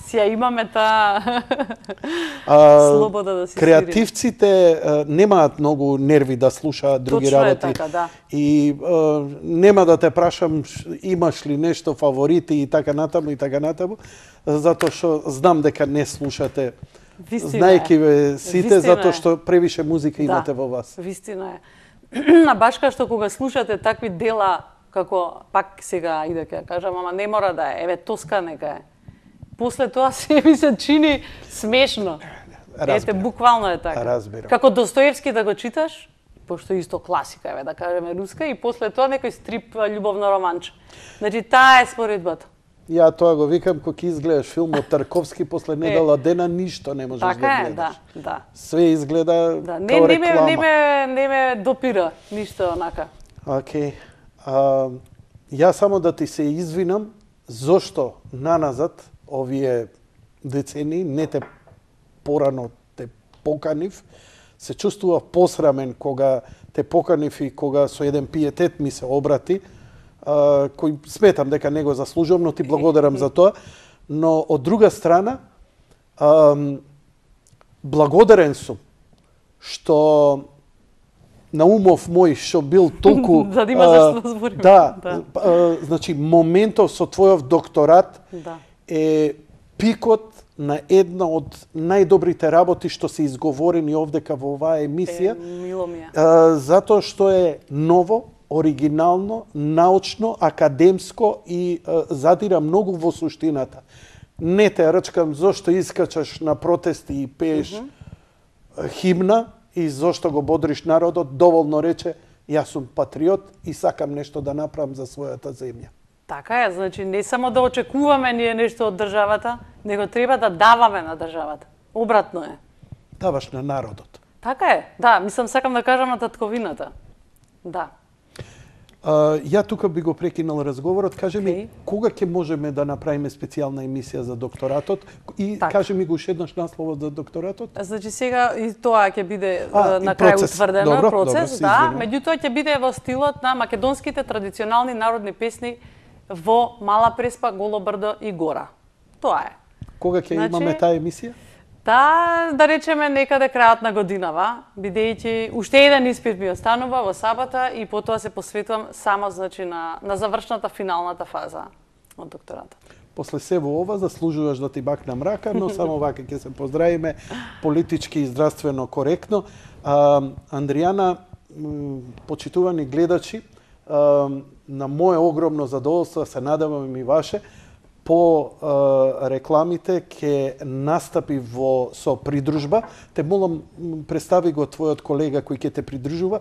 Си ја имаме таа слобода да си креативците немаат многу нерви да слушаат други работи. Точно е така, да. И нема да те прашам имаш ли нешто фаворити и така натаму, затоа што знам дека не слушате. Знаеки ве сите, затоа што превише музика имате во вас. Вистина е. На башка што кога слушате такви дела, како пак сега иде ќе кажам, ама не мора да е, еве Тоска нека е. После тоа се ми се чини смешно. Ете, буквално е така. Разбирам. Како Достоевски да го читаш, пошто исто класика, еве да кажеме руска, и после тоа некој стрип љубовно романче. Значи, таа е споредбата. Ја тоа го викам, кога изгледаш филм од Тарковски, после недела дена ништо не можеш така да гледаш. Така е, да. Све изгледа као реклама. Не ме допира ништо онака. Океј. Ја само да ти се извинам, зошто наназад овие децени, не те порано те поканив, се чувствував посрамен кога те поканив и кога со еден пиетет ми се обрати, кој сметам дека не го заслужувам, но ти благодарам за тоа. Но од друга страна, благодарен сум што на умов мој што бил толку за да има зашто да збориме. Да, значи моментов со твојов докторат е пикот на една од најдобрите работи што се изговорени овдека во оваа емисија. Мило ми е. Затоа што е ново, оригинално, научно, академско и задира многу во суштината. Не те рачкам зошто искачаш на протести и пееш химна и зошто го бодриш народот, доволно рече, јас сум патриот и сакам нешто да направам за својата земја. Така е, значи не само да очекуваме ние нешто од државата, него треба да даваме на државата. Обратно е. Даваш на народот. Така е, да, мислам сакам да кажам на татковината. Да. Ја тука би го прекинал разговорот, кажи ми, кога ќе можеме да направиме специјална емисија за докторатот и кажи ми го уште еднаш насловот за докторатот? Значи сега и тоа ќе биде на крај утврдено процес, да, меѓутоа ќе биде во стилот на македонските традиционални народни песни во Мала Преспа, Голо брдо и Гора. Тоа е. Кога ќе имаме таа емисија? Да речеме некаде крајот на годинава, бидејќи уште еден испит ми останува во сабота и потоа се посветувам само значи на завршната финалната фаза од докторатот. После сево ова заслужуваш да ти бакнам рака, но само вака ќе се поздравиме политички и здравствено коректно. Андријана, почитувани гледачи, на моје огромно задоволство, се надевам и ваше, по рекламите ќе настапи со придружба. Те молам, представи го твојот колега кој ќе те придружува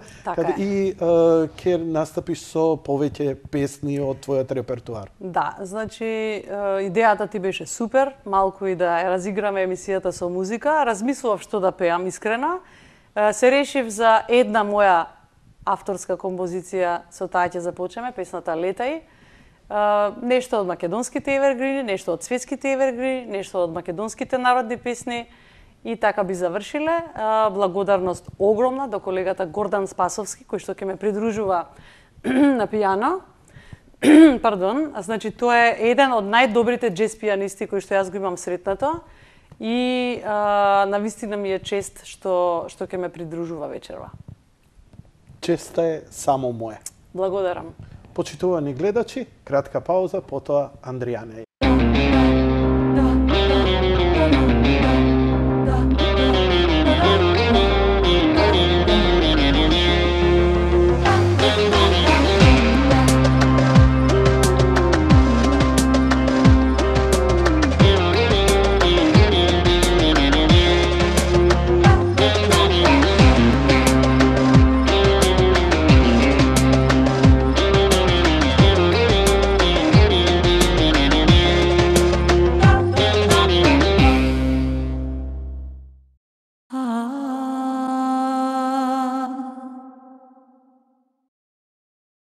и ќе настапиш со повеќе песни од твојот репертуар. Да, значи идејата ти беше супер, малку и да разиграме емисијата со музика. Размислував што да пеам искрена. Се решив за една моја авторска композиција, со таа ќе започнеме, песната Летај. Нешто од македонските евергрини, нешто од светските евергрини, нешто од македонските народни песни и така би завршиле. Благодарност огромна до колегата Гордан Спасовски, кој што ќе ме придружува на пијано. Пардон, значи тоа е еден од најдобрите джез пијанисти кои што јас го имам сретнато и навистина ми е чест што ќе ме придружува вечерва. Честа е само моја. Благодарам. Почитувани гледачи, кратка пауза, потоа Андријана